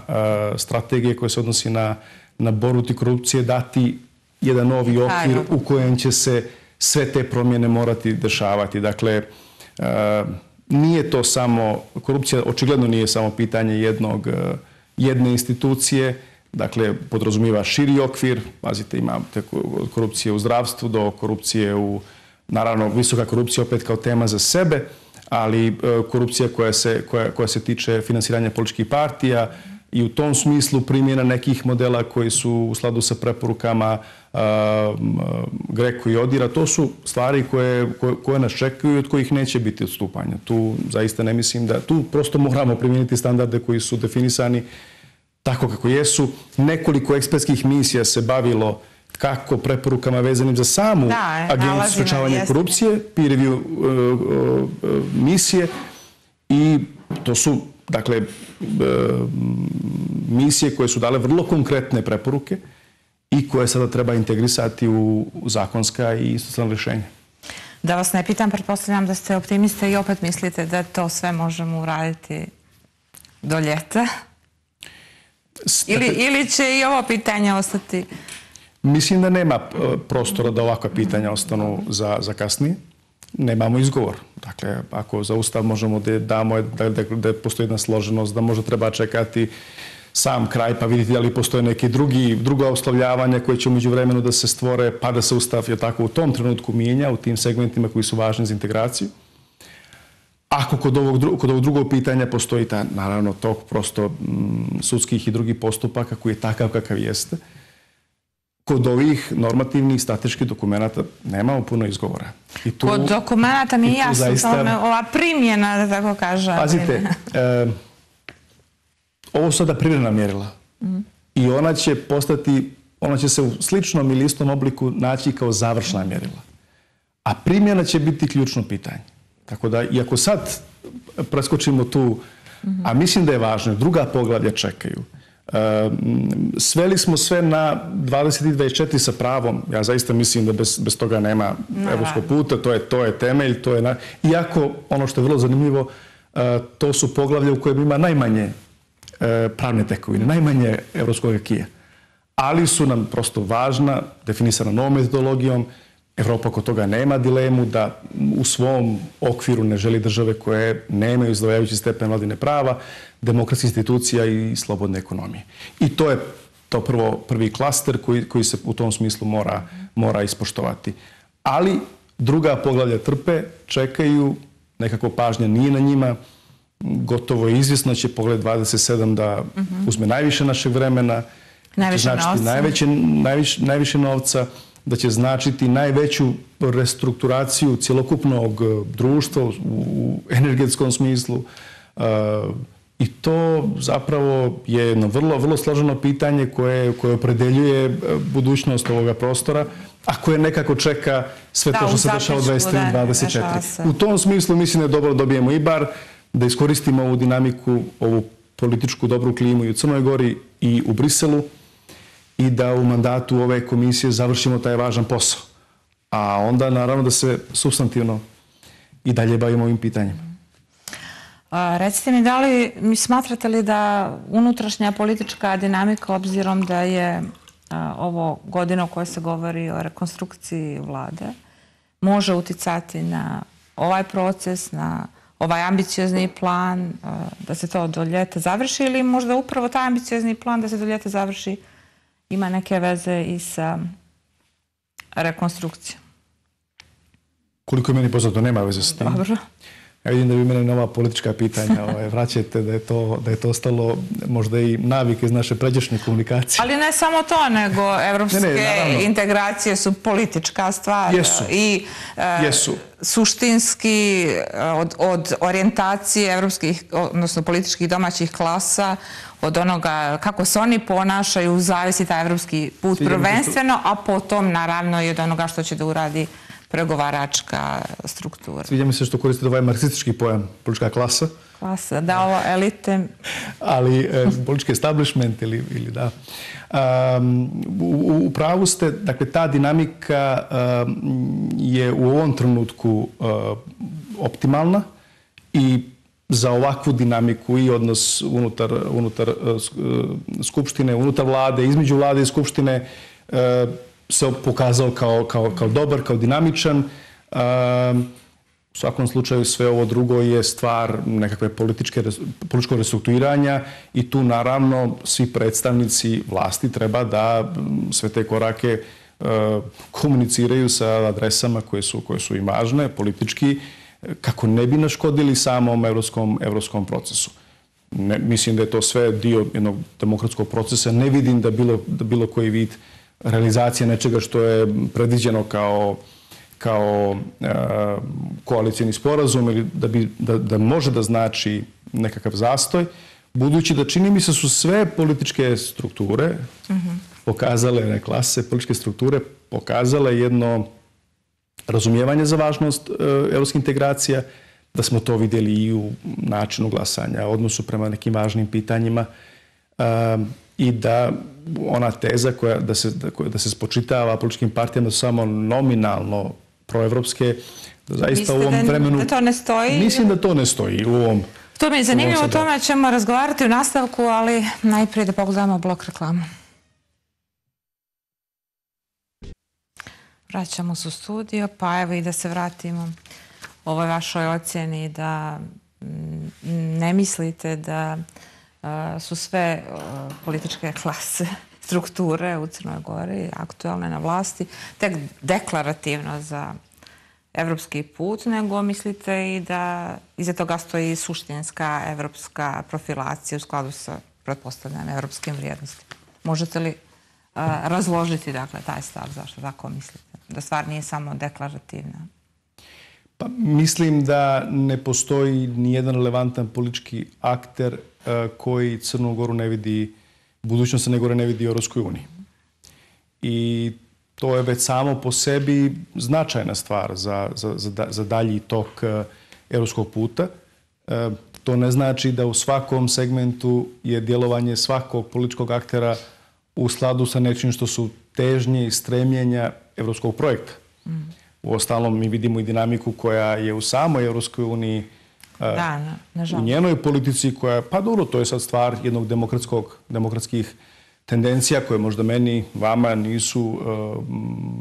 strategija koja se odnosi na borbu protiv korupcije dati jedan novi okvir u kojem će se sve te promjene morati dešavati. Dakle, nije to samo, korupcija očigledno nije samo pitanje jedne institucije, dakle, podrazumiva širi okvir, pazite, imate korupcije u zdravstvu do korupcije naravno, visoka korupcija opet kao tema za sebe, ali korupcija koja se tiče finansiranja političkih partija i u tom smislu primjena nekih modela koji su u skladu sa preporukama GRECO i ODIHR-a, to su stvari koje nas čekaju i od kojih neće biti odstupanja. Tu zaista ne mislim da, tu prosto moramo primijeniti standarde koji su definisani tako kako jesu. Nekoliko ekspertskih misija se bavilo kako preporukama vezanim za samu Agenciju za sprečavanje korupcije, peer review misije i to su, dakle, misije koje su dale vrlo konkretne preporuke i koje sada treba integrisati u zakonska i institucionalna rješenja. Da vas ne pitam, pretpostavljam da ste optimiste i opet mislite da to sve možemo uraditi do ljeta? Ili će i ovo pitanje ostati Mislim da nema prostora da ovakva pitanja ostanu za kasnije. Nemamo izgovor. Dakle, ako za Ustav možemo da damo da postoji jedna složenost, da možda treba čekati sam kraj pa vidjeti da li postoje neki druga oslovljavanja koje će umeđu vremenu da se stvore pa da se Ustav u tom trenutku mijenja u tim segmentima koji su važni za integraciju. Ako kod ovog drugog pitanja postoji naravno tok prosto sudskih i drugih postupaka koji je takav kakav jeste, kod ovih normativnih strateških dokumenta nemamo puno izgovora. Kod dokumenta mi je jasno ova primjena, da tako kažem. Pazite, ovo su sada privremena mjerila i ona će se u sličnom ili istom obliku naći kao završna mjerila. A primjena će biti ključno pitanje. Tako da, iako sad preskočimo tu, a mislim da je važno, druga poglavlja čekaju. Sveli smo sve na 20 i 24 sa pravom. Ja zaista mislim da bez toga nema evropskog puta. To je temelj. Iako, ono što je vrlo zanimljivo, to su poglavlja u kojem ima najmanje pravne tekovine, najmanje evropskog akija. Ali su nam prosto važna, definisana novom metodologijom. Evropa oko toga nema dilemu da u svom okviru ne želi države koje nemaju izdvajajući stepen vladavine prava, demokratskih institucija i slobodne ekonomije. I to je prvi klaster koji se u tom smislu mora ispoštovati. Ali druga poglavlja trpe, čekaju, nekako pažnja nije na njima, gotovo je izvjesno će pogled 27 da uzme najviše našeg vremena, najviše novca, da će značiti najveću restrukturaciju cjelokupnog društva u energetskom smislu. I to zapravo je jedno vrlo složeno pitanje koje opredeljuje budućnost ovoga prostora, a koje nekako čeka sve to što se dešava u 23 i 24. U tom smislu mislim da je dobro da dobijemo i bar da iskoristimo ovu dinamiku, ovu političku dobru klimu i u Crnoj Gori i u Briselu, i da u mandatu ove komisije završimo taj važan posao. A onda naravno da se supstantivno i dalje bavimo ovim pitanjima. Recite mi, da li mi smatrate li da unutrašnja politička dinamika, obzirom da je ovo godina u kojoj se govori o rekonstrukciji vlade, može uticati na ovaj proces, na ovaj ambiciozni plan, da se to do ljeta završi, ili možda upravo taj ambiciozni plan da se do ljeta završi ima neke veze i sa rekonstrukcijom? Koliko je meni poznato, nema veze s tim. Dobro. Ja vidim da vi mene nova politička pitanja vraćate, da je to ostalo možda i navike iz naše pređašnje komunikacije. Ali ne samo to, nego evropske integracije su politička stvar. Jesu. Suštinski od orijentacije evropskih, odnosno političkih domaćih klasa, od onoga kako se oni ponašaju, zavisi taj evropski put prvenstveno, a potom naravno i od onoga što će da uradi pregovaračka struktura. Sviđa mi se što koristite ovaj marksistički pojam, politička klasa. Klasa, da, ovo elite. Ali politički establishment ili da. U pravu ste, dakle, ta dinamika je u ovom trenutku optimalna i za ovakvu dinamiku i odnos unutar Skupštine, unutar vlade, između vlade i Skupštine se pokazao kao dobar, kao dinamičan. U svakom slučaju sve ovo drugo je stvar nekakve političkog restrukturiranja i tu naravno svi predstavnici vlasti treba da sve te korake komuniciraju sa adresama koje su im važne politički, kako ne bi naškodili samom evropskom procesu. Mislim da je to sve dio jednog demokratskog procesa. Ne vidim da bilo koji vid realizacije nečega što je predviđeno kao koalicijni sporazum ili da može da znači nekakav zastoj, budući da čini mi se su sve političke strukture pokazale, klase političke strukture pokazale jedno razumijevanje za važnost evropskih integracija, da smo to vidjeli i u načinu glasanja, odnosu prema nekim važnim pitanjima i da ona teza da se spočitava političkim partijama samo nominalno proevropske, da zaista u ovom vremenu... Da to ne stoji? Mislim da to ne stoji u ovom... To mi je zanimljivo, o tome ćemo razgovarati u nastavku, ali najprije da pogledamo blok reklama. Vraćamo se u studio, pa evo i da se vratimo ovoj vašoj ocjeni da ne mislite da su sve političke klase, strukture u Crnoj Gori aktualne na vlasti tek deklarativno za evropski put, nego mislite i da iza toga stoji suštinska evropska profilacija u skladu sa, pretpostavljam, evropskim vrijednostima. Možete li razložiti, dakle, taj stav, zašto tako mislite? Da stvar nije samo deklarativna. Pa, mislim da ne postoji nijedan relevantan politički akter koji Crnu Goru ne vidi, budućnost Crne Gore ne vidi u Europskoj uniji. I to je već samo po sebi značajna stvar za dalji tok europskog puta. To ne znači da u svakom segmentu je djelovanje svakog političkog aktera u skladu sa nečim što su težnje i stremljenja europskog projekta. Uostalom, mi vidimo i dinamiku koja je u samoj Europskoj uniji, u njenoj politici koja, pa dobro, to je sad stvar jednog demokratskih tendencija koje možda meni, vama nisu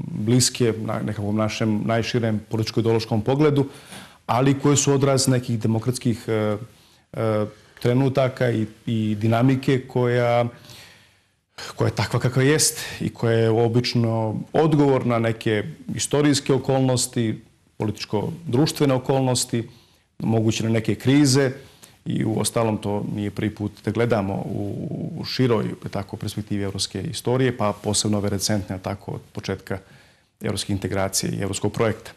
bliske na nekakvom našem najširem političko-ideološkom pogledu, ali koje su odraz nekih demokratskih trenutaka i dinamike koja je takva kakva jest i koja je obično odgovor na neke istorijske okolnosti, političko-društvene okolnosti, moguće na neke krize i u ostalom to nije prvi put da gledamo u široj perspektivi evropske istorije, pa posebno ove recentne, tako od početka evropske integracije i evropskog projekta.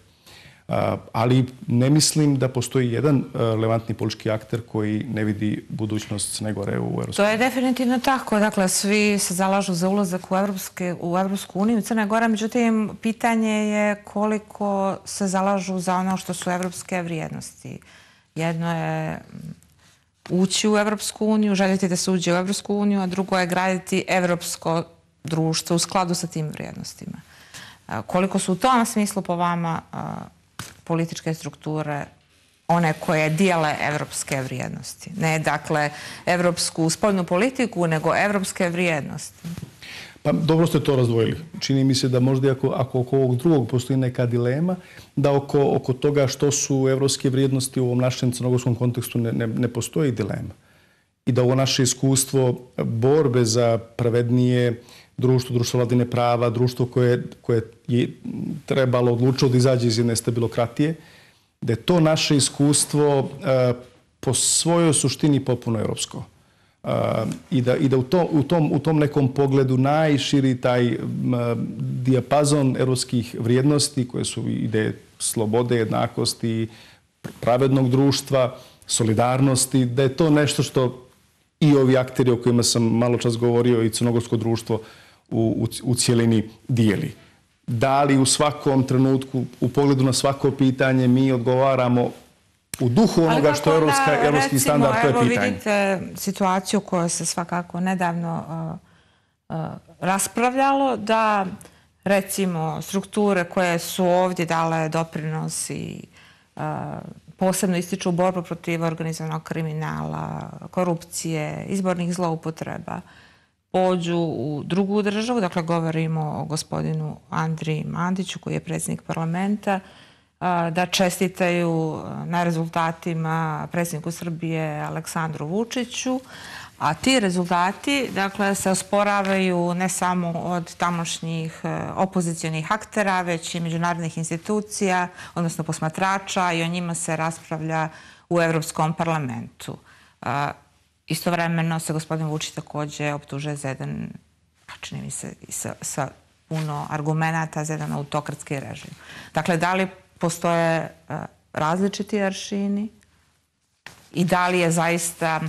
Ali ne mislim da postoji jedan relevantni politički akter koji ne vidi budućnost Crne Gore u Europskoj uniji. To je definitivno tako. Dakle, svi se zalažu za ulazak u Europsku uniju, Crna Gora. Međutim, pitanje je koliko se zalažu za ono što su evropske vrijednosti. Jedno je ući u Europsku uniju, željeti da se uđe u Europsku uniju, a drugo je graditi evropsko društvo u skladu sa tim vrijednostima. Koliko su u tom smislu po vama političke strukture one koje dijele evropske vrijednosti? Ne, dakle, evropsku spoljnu politiku, nego evropske vrijednosti. Pa dobro ste to razdvojili. Čini mi se da možda ako oko ovog drugog postoji neka dilema, da oko toga što su evropske vrijednosti u ovom našem crnogorskom kontekstu ne postoji dilema. I da ovo naše iskustvo borbe za pravednije društvo vladavine prava, društvo koje je trebalo odlučiti da izađe iz jedne stabilokratije, da je to naše iskustvo po svojoj suštini potpuno europsko. I da u tom nekom pogledu najširi taj dijapazon europskih vrijednosti koje su ideje slobode, jednakosti, pravednog društva, solidarnosti, da je to nešto što i ovi akteri o kojima sam malo čas govorio i crnogorsko društvo u cijelini dijeli. Da li u svakom trenutku, u pogledu na svako pitanje, mi odgovaramo u duhu onoga što je evropski standard, to je pitanje. Evo vidite situaciju koju se svakako nedavno raspravljalo, da recimo strukture koje su ovdje dale doprinos i posebno ističu borbu protiv organizovanog kriminala, korupcije, izbornih zloupotreba, pođu u drugu državu, dakle govorimo o gospodinu Andriji Mandiću koji je predsjednik parlamenta, da čestitaju na rezultatima predsjedniku Srbije Aleksandru Vučiću, a ti rezultati, dakle, se osporavaju ne samo od tamošnjih opozicionih aktera, već i međunarodnih institucija, odnosno posmatrača, i o njima se raspravlja u Evropskom parlamentu. Istovremeno se gospodin Vučić također optužuje za jedan, čini mi se, sa puno argumenata za jedan autokratski režim. Dakle, da li postoje različiti aršini i da li je zaista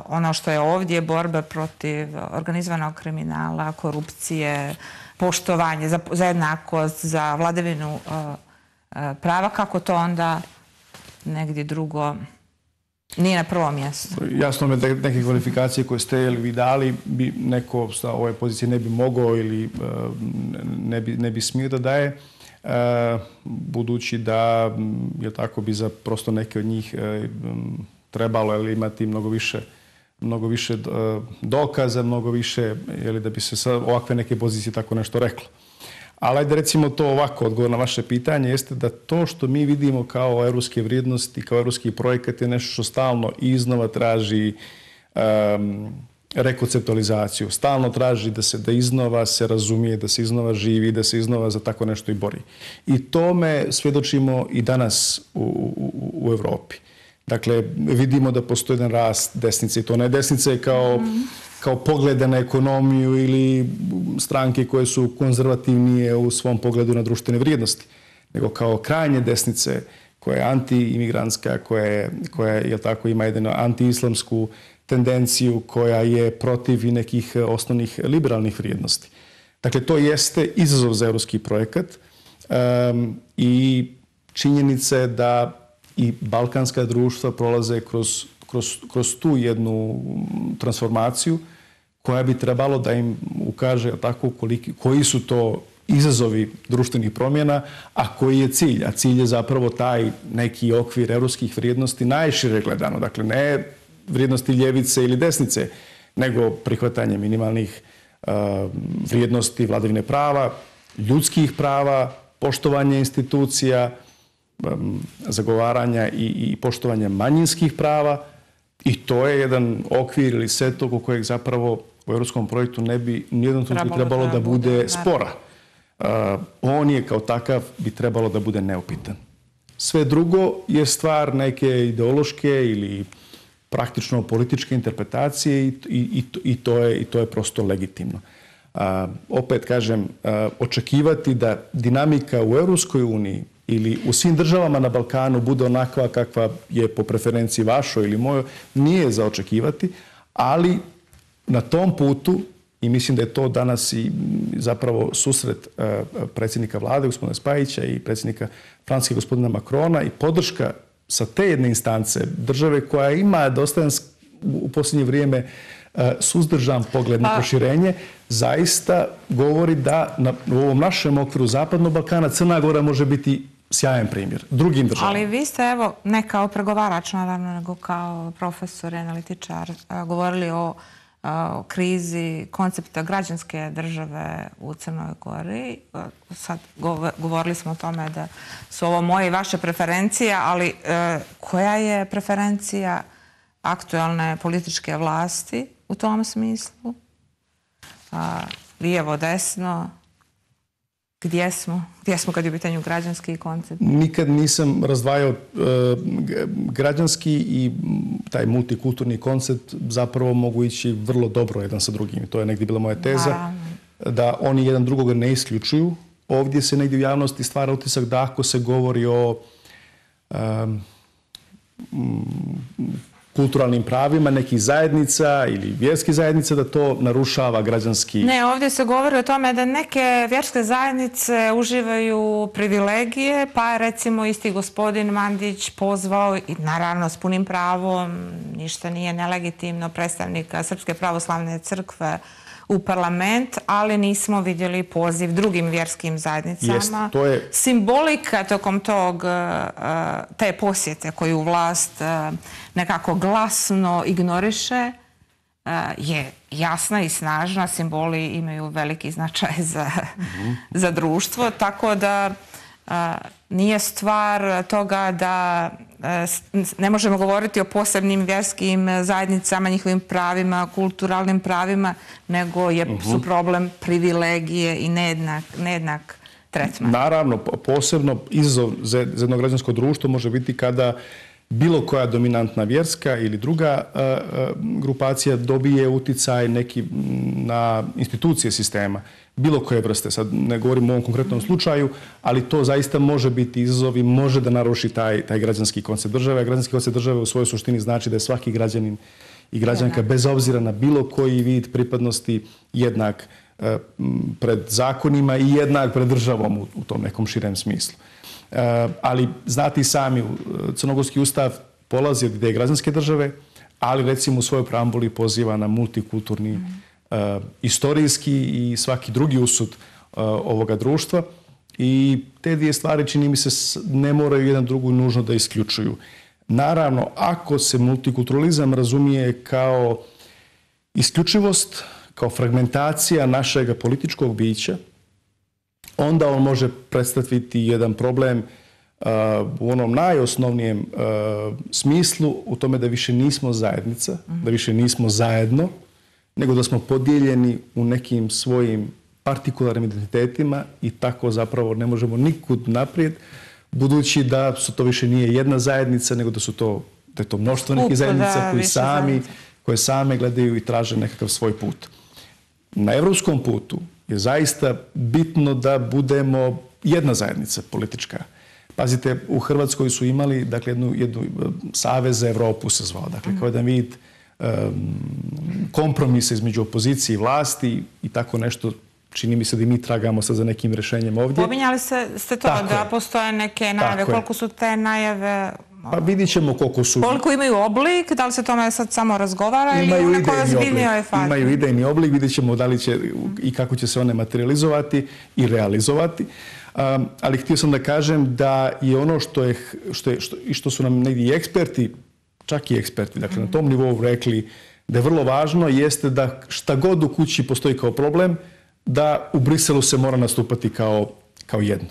ono što je ovdje borba protiv organizovanog kriminala, korupcije, poštovanje za jednakost, za vladavinu prava, kako to onda negdje drugo nije na prvom mjestu? Jasno mi je neke kvalifikacije koje ste vi dali, neko sa ove pozicije ne bi mogao ili ne bi smio da daje, budući da je tako bi za prosto neke od njih trebalo imati mnogo više dokaza, mnogo više da bi se sa ovakve neke pozicije tako nešto reklo. Ali ajde recimo to ovako, odgovor na vaše pitanje jeste da to što mi vidimo kao evropske vrijednosti, kao evropski projekat je nešto što stalno iznova traži rekonceptualizaciju, stalno traži da iznova se razumije, da se iznova živi, da se iznova za tako nešto i bori. I tome svjedočimo i danas u Evropi. Dakle, vidimo da postoji jedan rast desnice i to ne desnice kao poglede na ekonomiju ili stranke koje su konzervativnije u svom pogledu na društvene vrijednosti, nego kao krajnje desnice koja je anti-imigrantska, koja je, tako, ima jednu anti-islamsku tendenciju, koja je protiv i nekih osnovnih liberalnih vrijednosti. Dakle, to jeste izazov za evropski projekat i činjenica je da i balkanska društva prolaze kroz tu jednu transformaciju koja bi trebalo da im ukaže tako koji su to izazovi društvenih promjena, a koji je cilj. A cilj je zapravo taj neki okvir evropskih vrijednosti najšire gledano. Dakle, ne vrijednosti ljevice ili desnice, nego prihvatanje minimalnih vrijednosti vladavine prava, ljudskih prava, poštovanje institucija, zagovaranja i poštovanja manjinskih prava, i to je jedan okvir ili set oko kojeg zapravo u europskom projektu ne bi nijednom trenutku trebalo da bude spora. On je kao takav bi trebalo da bude neupitan. Sve drugo je stvar neke ideološke ili praktično političke interpretacije i to je prosto legitimno. Opet kažem, očekivati da dinamika u Europskoj uniji ili u svim državama na Balkanu bude onakva kakva je po preferenciji vašoj ili mojoj, nije za očekivati, ali na tom putu, i mislim da je to danas i zapravo susret predsjednika vlade, gospodina Spajića, i predsjednika Francuske, gospodina Macrona, i podrška sa te jedne instance države koja ima dosta u posljednje vrijeme suzdržan pogled na proširenje, zaista govori da u ovom našem okviru Zapadnog Balkana Crna Gora može biti sjajan primjer drugim državama. Ali vi ste, evo, ne kao pregovarač, naravno, nego kao profesor, analitičar, govorili o krizi koncepta građanske države u Crnoj Gori. Sad govorili smo o tome da su ovo moje i vaše preferencije, ali koja je preferencija aktualne političke vlasti u tom smislu? Lijevo, desno? Gdje smo? Gdje smo kad je u pitanju građanski koncept? Nikad nisam razdvajao građanski i taj multikulturni koncept, zapravo mogu ići vrlo dobro jedan sa drugim. To je negdje bila moja teza, da oni jedan drugoga ne isključuju. Ovdje se negdje u javnosti stvara utisak da ako se govori o kulturalnim pravima nekih zajednica ili vjerskih zajednica, da to narušava građanski... Ne, ovdje se govori o tome da neke vjerske zajednice uživaju privilegije, pa je recimo isti gospodin Mandić pozvao, i naravno s punim pravom, ništa nije nelegitimno, predstavnika Srpske pravoslavne crkve u parlament, ali nismo vidjeli poziv drugim vjerskim zajednicama. Simbolika tokom te posjete koju vlast nekako glasno ignoriše je jasna i snažna. Simboli imaju veliki značaj za društvo, tako da nije stvar toga da ne možemo govoriti o posebnim vjerskim zajednicama, njihovim pravima, kulturalnim pravima, nego su problem privilegije i nejednak tretman. Naravno, posebno izazov za jedno građansko društvo može biti kada bilo koja dominantna vjerska ili druga grupacija dobije uticaj neki na institucije sistema, bilo koje vrste. Sad ne govorim o ovom konkretnom slučaju, ali to zaista može biti izazov i može da naruši taj građanski koncept države. Građanski koncept države u svojoj suštini znači da je svaki građanin i građanka, bez obzira na bilo koji vid pripadnosti, jednak pred zakonima i jednak pred državom u tom nekom širem smislu. Ali znate i sami, Crnogorski ustav polazi od ideje građanske države, ali recimo u svojoj preambuli poziva na multikulturni, istorijski i svaki drugi usud ovoga društva, i te dvije stvari, čini mi se, ne moraju jedan drugu nužno da isključuju. Naravno, ako se multikulturalizam razumije kao isključivost, kao fragmentacija našeg političkog bića, onda on može predstaviti jedan problem u onom najosnovnijem smislu, u tome da više nismo zajednica, da više nismo zajedno, nego da smo podijeljeni u nekim svojim partikularnim identitetima i tako zapravo ne možemo nikud naprijed, budući da to više nije jedna zajednica, nego da je to mnoštvo nekih zajednica koje same gledaju i traže nekakav svoj put. Na evropskom putu je zaista bitno da budemo jedna zajednica politička. Pazite, u Hrvatskoj su imali jednu Savez za Evropu se zvao, dakle kao jedan vid kompromisa između opozicije i vlasti i tako nešto. Čini mi se da i mi tragamo sad za nekim rešenjem ovdje. Pominjali ste to da postoje neke najave. Koliko su te najave? Pa vidit ćemo koliko su. Koliko imaju oblik? Da li se tome sad samo razgovara ili u nekoj ozbiljnijoj fazi? Imaju idejni oblik. Vidjet ćemo da li će i kako će se one materializovati i realizovati. Ali htio sam da kažem da je ono što su nam negdje eksperti, čak i eksperti, dakle na tom nivou rekli da je vrlo važno, jeste da šta god u kući postoji kao problem, da u Briselu se mora nastupati kao jedno.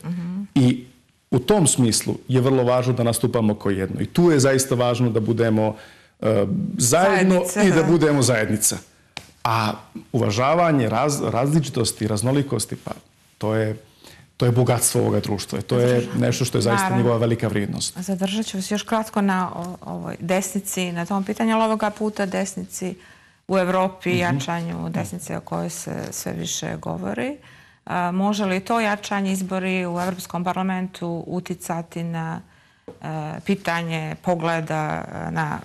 I u tom smislu je vrlo važno da nastupamo kao jedno. I tu je zaista važno da budemo zajedno i da budemo zajednica. A uvažavanje različitosti i raznolikosti, pa to je bogatstvo ovoga društva. To je nešto što je zaista njegova velika vrijednost. Zadržat ću vas još kratko na ovoj desnici, na tom pitanju, ali ovoga puta desnici u Evropi, jačanju desnice o kojoj se sve više govori. Može li to jačanje izbori u Evropskom parlamentu uticati na pitanje pogleda, na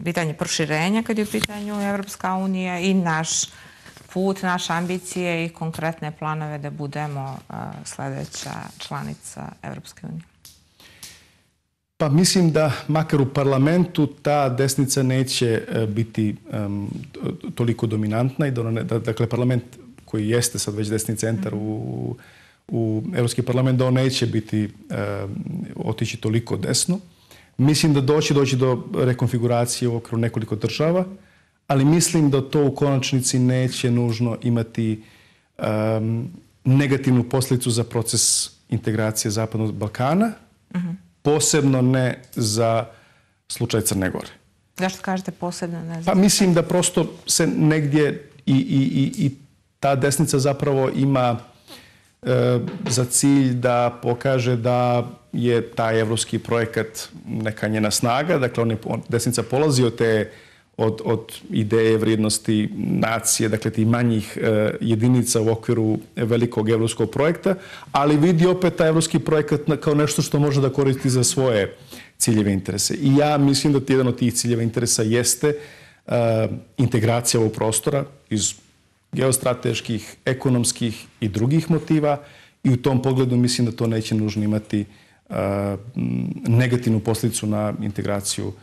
pitanje proširenja kad je u pitanju Evropska unija i naš put, naše ambicije i konkretne planove da budemo sljedeća članica Evropske unije? Pa mislim da makar u parlamentu ta desnica neće biti toliko dominantna i dakle parlament koji jeste sad već desni centar u Europski parlament, da on neće otići toliko desno. Mislim da doći do rekonfiguracije u okviru nekoliko država, ali mislim da to u konačnici neće nužno imati negativnu posljedicu za proces integracije Zapadnog Balkana, posebno ne za slučaj Crne Gore. Zašto kažete posebno ne? Pa mislim da prosto se negdje i ta desnica zapravo ima za cilj da pokaže da je taj evropski projekat neka njena snaga. Dakle, desnica polazi od ideje vrijednosti nacije, dakle tih manjih jedinica u okviru velikog evropskog projekta, ali vidi opet taj evropski projekat kao nešto što može da koristi za svoje ciljeve interese. I ja mislim da jedan od tih ciljeva interesa jeste integracija ovog prostora iz geostrateških, ekonomskih i drugih motiva i u tom pogledu mislim da to neće nužno imati negativnu posljedicu na integraciju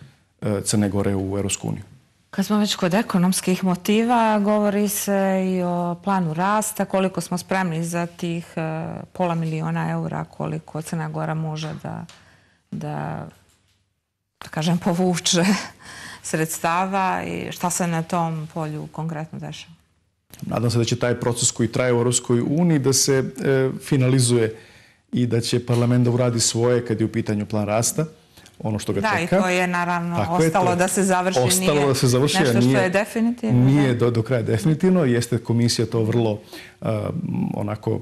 Crne Gore u Europsku uniju. Kad smo već kod ekonomskih motiva, govori se i o planu rasta, koliko smo spremni za tih €500 000, koliko Crna Gora može da kažem, povuče sredstava i šta se na tom polju konkretno dešava? Nadam se da će taj proces koji traje u Europskoj uniji da se finalizuje i da će parlament da uradi svoje kad je u pitanju plan rasta, ono što ga čeka. Da, i to je naravno ostalo da se završi, nije nešto što je definitivno. Nije do kraja definitivno, jeste komisija to vrlo onako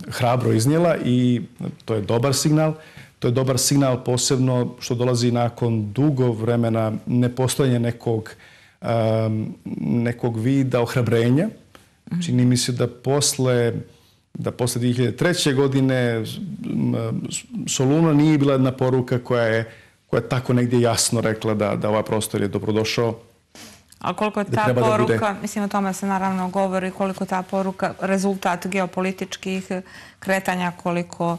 hrabro iznijela i to je dobar signal. To je dobar signal posebno što dolazi nakon dugo vremena nepostojanja nekog vida ohrabrenja. Čini mi se da posle 2003. godine Soluna nije bila jedna poruka koja je tako negdje jasno rekla da ovaj prostor je dobrodošao. A koliko je ta poruka, mislim o tome se naravno govori, koliko ta poruka rezultat geopolitičkih kretanja, koliko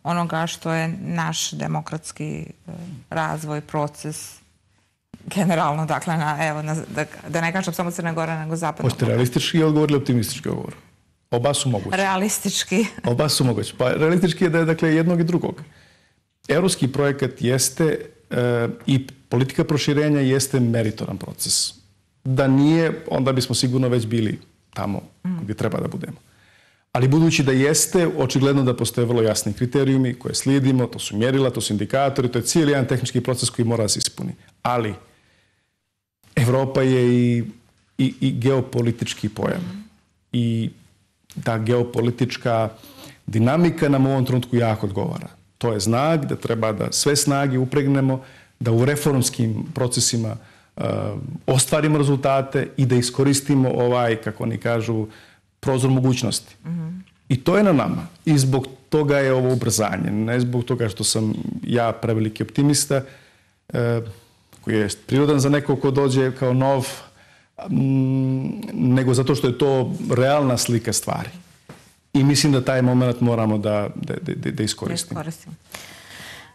onoga što je naš demokratski razvoj, proces generalno, dakle, da ne kažem samo Crna Gora, nego Zapadnog. Hoćete realistički odgovor ili optimistički odgovor? Oba su moguće. Realistički. Oba su moguće. Pa realistički je da je dakle jednog i drugog. Evropski projekat jeste i politika proširenja jeste meritoran proces. Da nije, onda bismo sigurno već bili tamo gdje treba da budemo. Ali budući da jeste, očigledno da postoje vrlo jasni kriterijumi koje slijedimo, to su mjerila, to su indikatori, to je cijeli jedan tehnički proces koji mora da se ispuni. Ali Evropa je i geopolitički pojam. I ta geopolitička dinamika nam u ovom trenutku jako odgovara. To je znak da treba da sve snage upregnemo, da u reformskim procesima ostvarimo rezultate i da iskoristimo kako oni kažu, prozor mogućnosti. I to je na nama. I zbog toga je ovo ubrzanje. Ne zbog toga što sam ja preveliki optimista, koji je prirodan za nekog ko dođe kao nov, nego zato što je to realna slika stvari. I mislim da taj moment moramo da iskoristimo.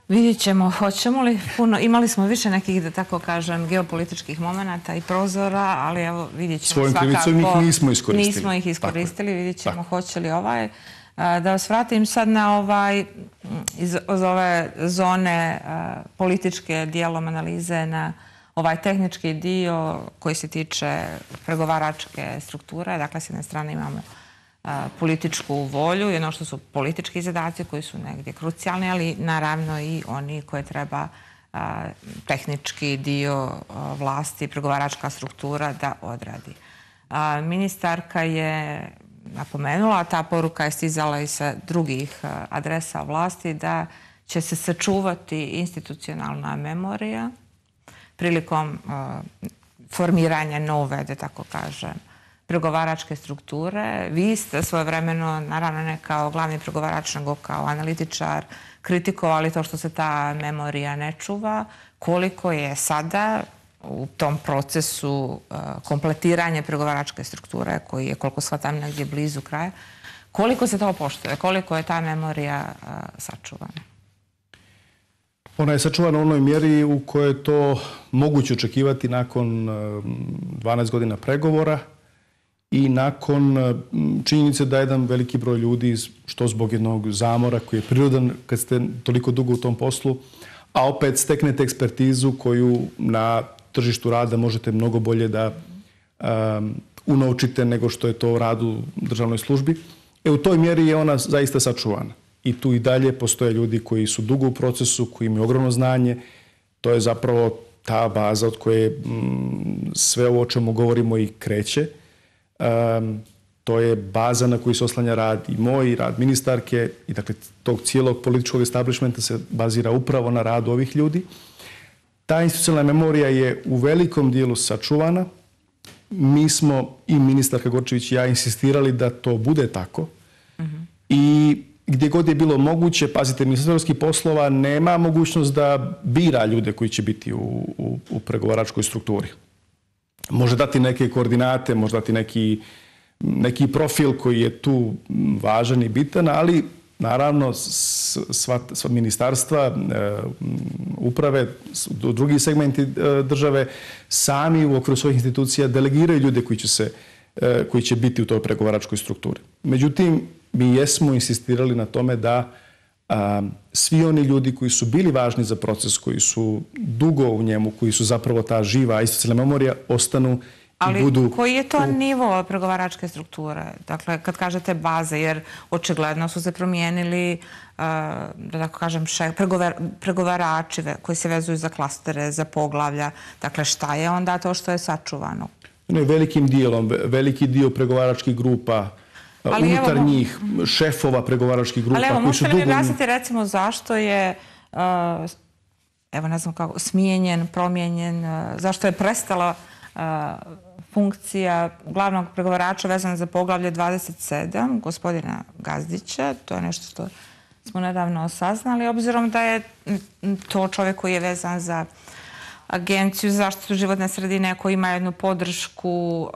Vidjet ćemo, hoćemo li puno, imali smo više nekih, da tako kažem, geopolitičkih momenata i prozora, ali evo vidjet ćemo svojom krivicom ih nismo iskoristili. Nismo ih iskoristili, vidjet ćemo hoće li Da vas vratim sad na iz ove zone političke dijelom analize na ovaj tehnički dio koji se tiče pregovaračke strukture. Dakle, s jedne strane imamo političku volju i ono što su politički zadaci koji su negdje krucijalni, ali naravno i oni koje treba tehnički dio vlasti, pregovaračka struktura da odradi. Ministarka je napomenula, ta poruka je stizala i sa drugih adresa vlasti, da će se sačuvati institucionalna memorija prilikom formiranja nove, da tako kažem, pregovaračke strukture. Vi ste svojevremeno, naravno ne kao glavni pregovarač, nego kao analitičar, kritikovali to što se ta memorija ne čuva. Koliko je sada u tom procesu kompletiranja pregovaračke strukture, koji je, koliko shvatam, negdje blizu kraja, koliko se to poštuje? Koliko je ta memorija sačuvana? Ona je sačuvana u onoj mjeri u kojoj je to moguće očekivati nakon 12 godina pregovora i nakon činjenice da jedan veliki broj ljudi, što zbog jednog zamora koji je prirodan kad ste toliko dugo u tom poslu, a opet steknete ekspertizu koju na tržištu rada možete mnogo bolje da unovčite nego što je to u radu u državnoj službi. U toj mjeri je ona zaista sačuvana. I tu i dalje postoje ljudi koji su dugo u procesu, koji imaju ogromno znanje. To je zapravo ta baza od koje sve ovo o čemu govorimo i kreće. To je baza na koju se oslanja rad i moj, rad ministarke i dakle tog cijelog političkog establishmenta se bazira upravo na radu ovih ljudi. Ta institucionalna memorija je u velikom dijelu sačuvana. Mi smo, i ministarka Gorčević i ja, insistirali da to bude tako. I gdje god je bilo moguće, pazite, Ministarstvo europskih poslova nema mogućnost da bira ljude koji će biti u pregovaračkoj strukturi. Može dati neke koordinate, može dati neki profil koji je tu važan i bitan, ali naravno sva ministarstva, uprave, drugi segmenti države sami u okviru svojih institucija delegiraju ljude koji će biti u toj pregovaračkoj strukturi. Međutim, mi jesmo insistirali na tome da svi oni ljudi koji su bili važni za proces, koji su dugo u njemu, koji su zapravo ta živa institucionalna memorija, ostanu i budu... Ali koji je to nivo pregovaračke strukture? Dakle, kad kažete baze, jer očigledno su se promijenili, da tako kažem, pregovarači koji se vezuju za klastere, za poglavlja. Dakle, šta je onda to što je sačuvano? Velikim dijelom, veliki dio pregovaračkih grupa, unutar njih, šefova pregovaračkih grupa. Ali evo, možete li mi objasniti recimo zašto je, evo ne znam kako, smijenjen, promijenjen, zašto je prestala funkcija glavnog pregovarača vezana za poglavlje 27, gospodina Gazdića. To je nešto što smo nedavno saznali, obzirom da je to čovjek koji je vezan za Agenciju za zaštitu životne sredine, koji ima jednu podršku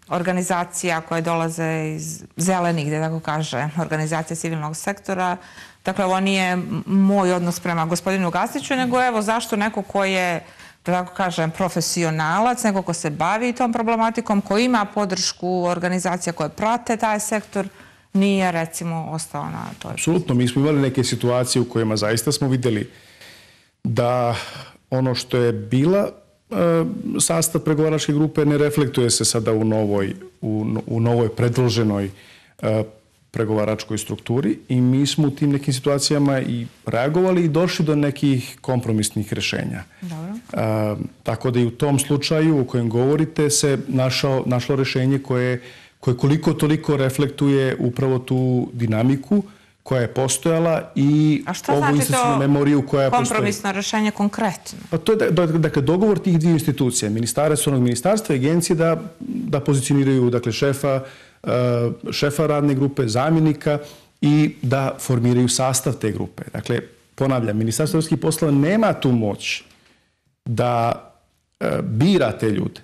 organizacija koje dolaze iz zelenih, da tako kaže, organizacije civilnog sektora. Dakle, ovo nije moj odnos prema gospodinu Gazdiću, nego evo zašto neko ko je, da tako kažem, profesionalac, neko ko se bavi tom problematikom, ko ima podršku organizacija koje prate taj sektor, nije, recimo, ostao na toj... Apsolutno, mi smo imali neke situacije u kojima zaista smo vidjeli da ono što je bila sastav pregovaračke grupe ne reflektuje se sada u novoj predloženoj pregovaračkoj strukturi i mi smo u tim nekim situacijama i reagovali i došli do nekih kompromisnih rješenja. Tako da i u tom slučaju u kojem govorite se našlo rješenje koje koliko toliko reflektuje upravo tu dinamiku koja je postojala i ovu institucionalnu memoriju koja postoji. A šta znači to kompromisno rješenje konkretno? Pa to je dakle, dogovor tih dvije institucija, ministarstva i agencije da pozicioniraju dakle, šefa radne grupe, zamjenika i da formiraju sastav te grupe. Dakle, ponavljam, Ministarstvo europskih poslova nema tu moć da bira te ljude,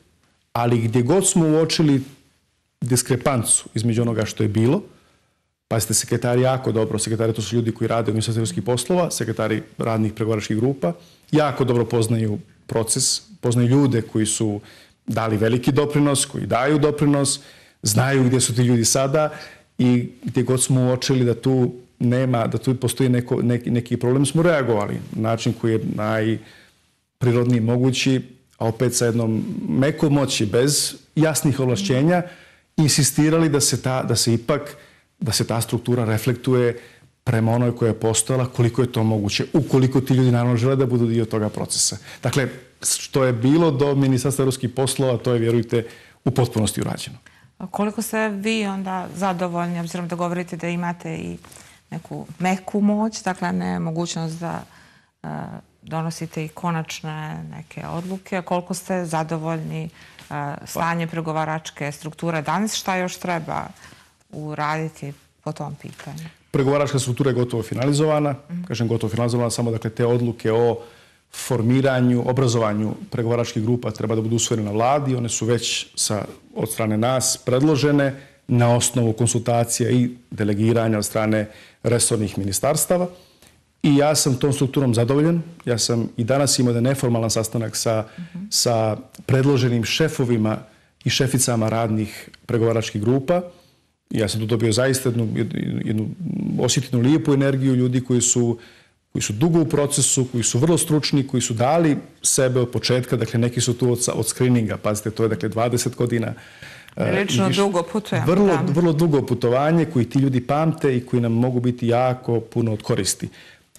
ali gdje god smo uočili diskrepancu između onoga što je bilo, pazite, sekretari jako dobro, sekretari to su ljudi koji rade u Ministarstvu europskih poslova, sekretari radnih pregovaračkih grupa, jako dobro poznaju proces, poznaju ljude koji su dali veliki doprinos, koji daju doprinos, znaju gdje su ti ljudi sada i gdje god smo uočili da tu nema, da tu postoji neki problem, smo reagovali na način koji je najprirodniji mogući, a opet sa jednom mekom moći, bez jasnih ovlašćenja, insistirali da se ta struktura reflektuje prema onoj koja je postojala, koliko je to moguće, ukoliko ti ljudi naravno žele da budu dio toga procesa. Dakle, što je bilo do Ministarstva europskih poslova, to je, vjerujte, u potpunosti urađeno. A koliko ste vi onda zadovoljni, obzirom da govorite da imate i neku meku moć, dakle ne mogućnost da donosite i konačne neke odluke, koliko ste zadovoljni stanje pregovaračke strukture danas, šta još treba uraditi po tom pitanju? Pregovaračka struktura je gotovo finalizovana. Kažem gotovo finalizovana, samo dakle te odluke o formiranju, obrazovanju pregovaračkih grupa treba da budu usvojene na vladi. One su već od strane nas predložene na osnovu konsultacija i delegiranja od strane resornih ministarstava. I ja sam tom strukturom zadovoljan. Ja sam i danas imao jedan neformalan sastanak sa predloženim šefovima i šeficama radnih pregovaračkih grupa. Ja sam tu dobio zaista jednu osjetinu lijepu energiju ljudi koji su dugo u procesu, koji su vrlo stručni, koji su dali sebe od početka. Dakle, neki su tu od screeninga. Pazite, to je dakle 20 godina. Prilično dugo putujemo. Vrlo dugo putovanje koji ti ljudi pamte i koji nam mogu biti jako puno od koristi.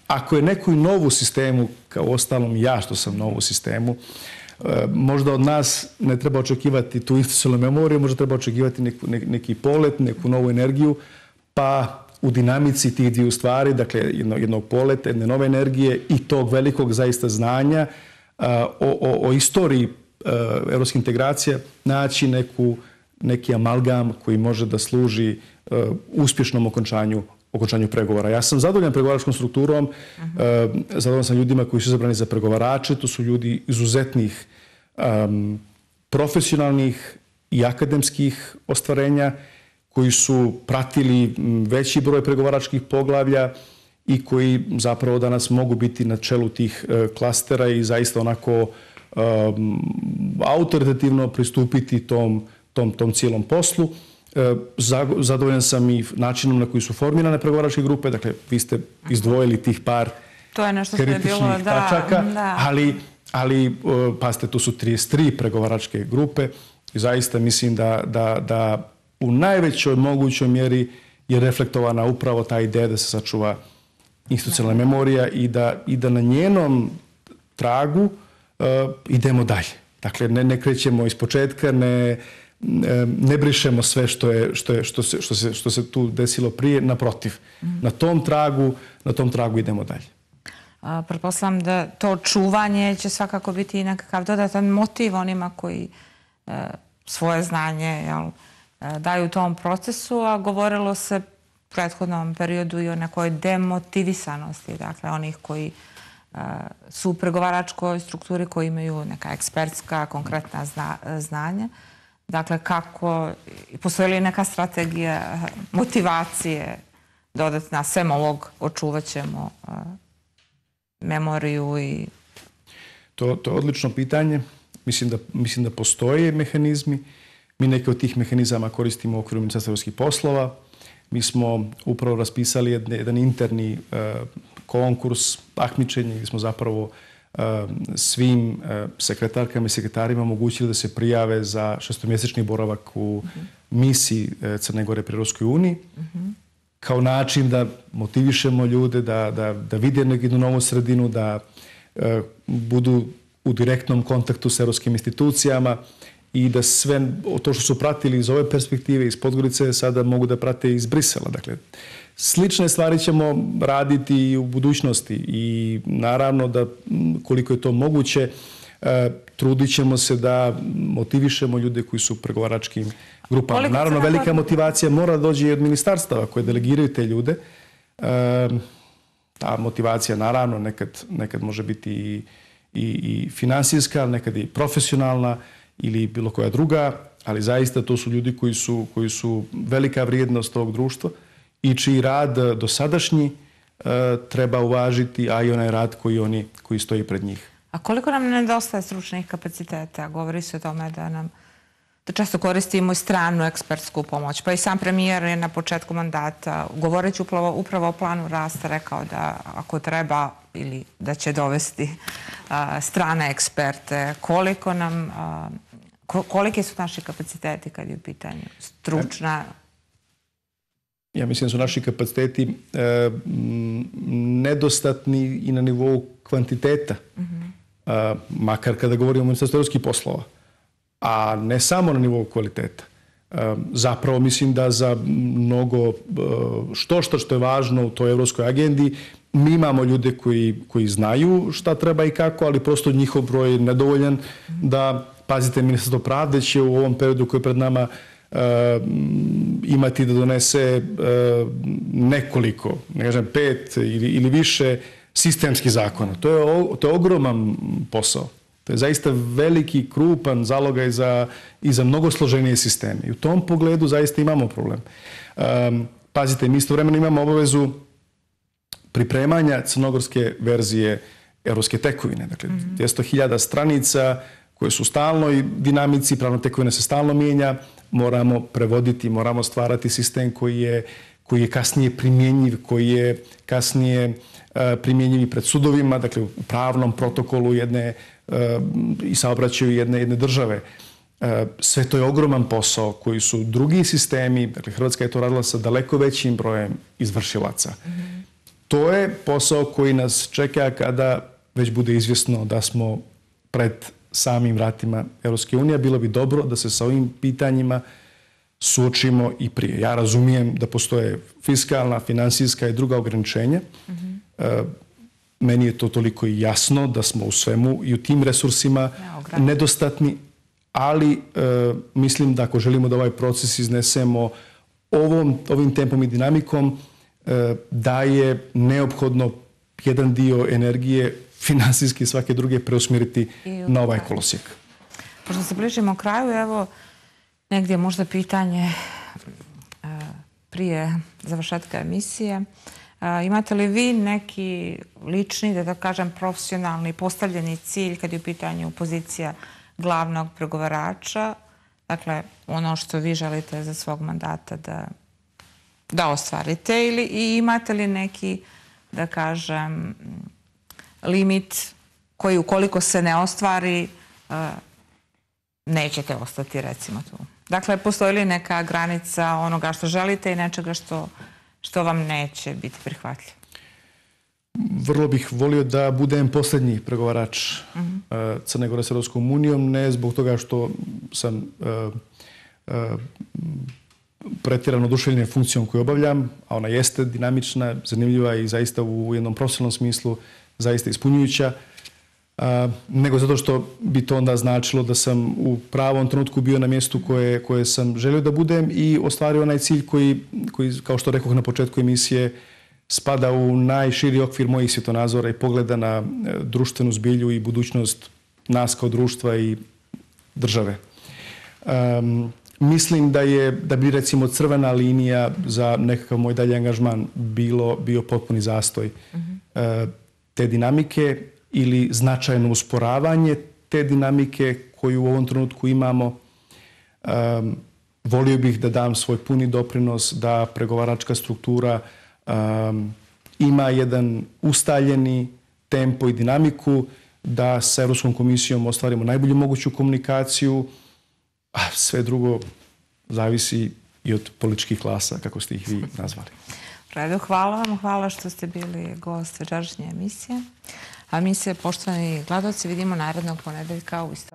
Ako je neko i nov u sistemu, kao ostalom ja što sam nov u sistemu, možda od nas ne treba očekivati tu institucionalnu memoriju, možda treba očekivati neki polet, neku novu energiju, pa u dinamici tih dviju stvari, dakle jednog poleta, jedne nove energije i tog velikog zaista znanja o istoriji evropskih integracija, naći neki amalgam koji može da služi uspješnom okončanju pregovora. Ja sam zadovoljan pregovaračkom strukturom, zadovoljan sam ljudima koji su izabrani za pregovarače, to su ljudi izuzetnih profesionalnih i akademskih ostvarenja koji su pratili veći broj pregovaračkih poglavlja i koji zapravo danas mogu biti na čelu tih klastera i zaista onako autoritativno pristupiti tom cijelom poslu. Zadovoljan sam i načinom na koji su formirane pregovaračke grupe, dakle vi ste izdvojili tih par kritičnih tačaka, ali pazite, tu su 33 pregovaračke grupe i zaista mislim da u najvećoj mogućoj mjeri je reflektovana upravo ta ideja da se sačuva institucionalna memorija i da na njenom tragu idemo dalje. Dakle, ne krećemo iz početka, ne brišemo sve što se tu desilo prije, naprotiv. Na tom tragu idemo dalje. Pretpostavljam da to čuvanje će svakako biti i nekakav dodatan motiv onima koji svoje znanje daju u tom procesu, a govorilo se u prethodnom periodu i o nekoj demotivisanosti, dakle onih koji su u pregovaračkoj strukturi, koji imaju neka ekspertska, konkretna znanja. Dakle, kako, postoji li neka strategija motivacije dodatna, sem ovog očuvat ćemo memoriju i... To je odlično pitanje. Mislim da postoje mehanizmi. Mi neke od tih mehanizama koristimo u okviru Ministarstva europskih poslova. Mi smo upravo raspisali jedan interni konkurs, takmičenje, gdje smo zapravo svim sekretarkama i sekretarima omogućili da se prijave za šestomjesečni boravak u misiji Crne Gore pri Europskoj uniji. kao način da motivišemo ljude, da vide jednu novu sredinu, da budu u direktnom kontaktu s europskim institucijama i da sve to što su pratili iz ove perspektive, iz Podgorice, sada mogu da prate iz Brisela. Dakle, slične stvari ćemo raditi i u budućnosti i naravno da koliko je to moguće trudit ćemo se da motivišemo ljude koji su u pregovaračkim grupama. Naravno, velika motivacija mora doći i od ministarstava koje delegiraju te ljude. Ta motivacija naravno nekad može biti i finansijska, nekad i profesionalna ili bilo koja druga, ali zaista to su ljudi koji su velika vrijednost ovog društva i čiji rad dosadašnji treba uvažiti, a i onaj rad koji stoji pred njih. A koliko nam nedostaje stručnih kapaciteta? Govori se o tome da često koristimo i stranu ekspertsku pomoć. Pa i sam premijer je na početku mandata, govoreći upravo o planu rasta, rekao da ako treba ili da će dovesti strane eksperte. Koliki su naši kapaciteti kad je u pitanju stručna? Ja mislim da su naši kapaciteti nedostatni i na nivou kvantiteta. Makar kada govorimo o Ministarstvu europskih poslova, a ne samo na nivou kvaliteta. Zapravo mislim da za mnogo što je važno u toj evropskoj agendi mi imamo ljude koji znaju šta treba i kako, ali prosto njihov broj je nedovoljan da, pazite, Ministarstvo pravde će u ovom periodu koji je pred nama imati da donese nekoliko, ne kažem 5 ili više sistemskih zakona. To je ogroman posao. To je zaista veliki, krupan zalogaj i za mnogo složenije sisteme. I u tom pogledu zaista imamo problem. Pazite, mi istovremeno imamo obavezu pripremanja crnogorske verzije evropske tekovine. Dakle, 200.000 stranica koje su u stalnoj dinamici, pravna tekovina se stalno mijenja, moramo prevoditi, moramo stvarati sistem koji je kasnije primjenjiv, koji je kasnije primjenjiv i pred sudovima, dakle u pravnom protokolu i saobraćaju jedne države. Sve to je ogroman posao koji su drugi sistemi, dakle Hrvatska je to radila sa daleko većim brojem izvršilaca. To je posao koji nas čeka kada već bude izvjesno da smo pred samim vratima Europske unije. Bilo bi dobro da se sa ovim pitanjima suočimo i prije. Ja razumijem da postoje fiskalna, finansijska i druga ograničenja. Meni je to toliko i jasno da smo u svemu i u tim resursima nedostatni, ali mislim da ako želimo da ovaj proces iznesemo ovim tempom i dinamikom, da je neophodno jedan dio energije, finansijski i svake druge, preusmjeriti na ovaj kolosijek. Pošto se bližimo kraju, evo negdje možda pitanje prije završetka emisije. Imate li vi neki lični, da kažem profesionalni, postavljeni cilj kad je u pitanju pozicija glavnog pregovarača? Dakle, ono što vi želite za svog mandata da ostvarite, ili imate li neki, da kažem, limit koji ukoliko se ne ostvari nećete ostati, recimo tu? Dakle, postoji li neka granica onoga što želite i nečega što vam neće biti prihvatljivo? Vrlo bih volio da budem posljednji pregovarač Crne Gore s Europskom unijom, ne zbog toga što sam pretjerano oduševljen funkcijom koju obavljam, a ona jeste dinamična, zanimljiva i zaista u jednom profesionalnom smislu zaista ispunjujuća, nego zato što bi to onda značilo da sam u pravom trenutku bio na mjestu koje sam želio da budem i ostvario onaj cilj koji, kao što rekoh na početku emisije, spada u najširi okvir mojih svjetonazora i pogleda na društvenu zbilju i budućnost nas kao društva i države. Mislim da bi recimo crvena linija za nekakav moj dalji angažman bio potpuni zastoj te dinamike ili značajno usporavanje te dinamike koju u ovom trenutku imamo. Volio bih da dam svoj puni doprinos da pregovaračka struktura ima jedan ustaljeni tempo i dinamiku, da sa Europskom komisijom ostvarimo najbolju moguću komunikaciju, a sve drugo zavisi i od političkih klasa, kako ste ih vi nazvali. redu, hvala vam. Hvala što ste bili gost večerašnje emisije. A mi se, poštovani gledalci, vidimo narednog ponedeljka u isto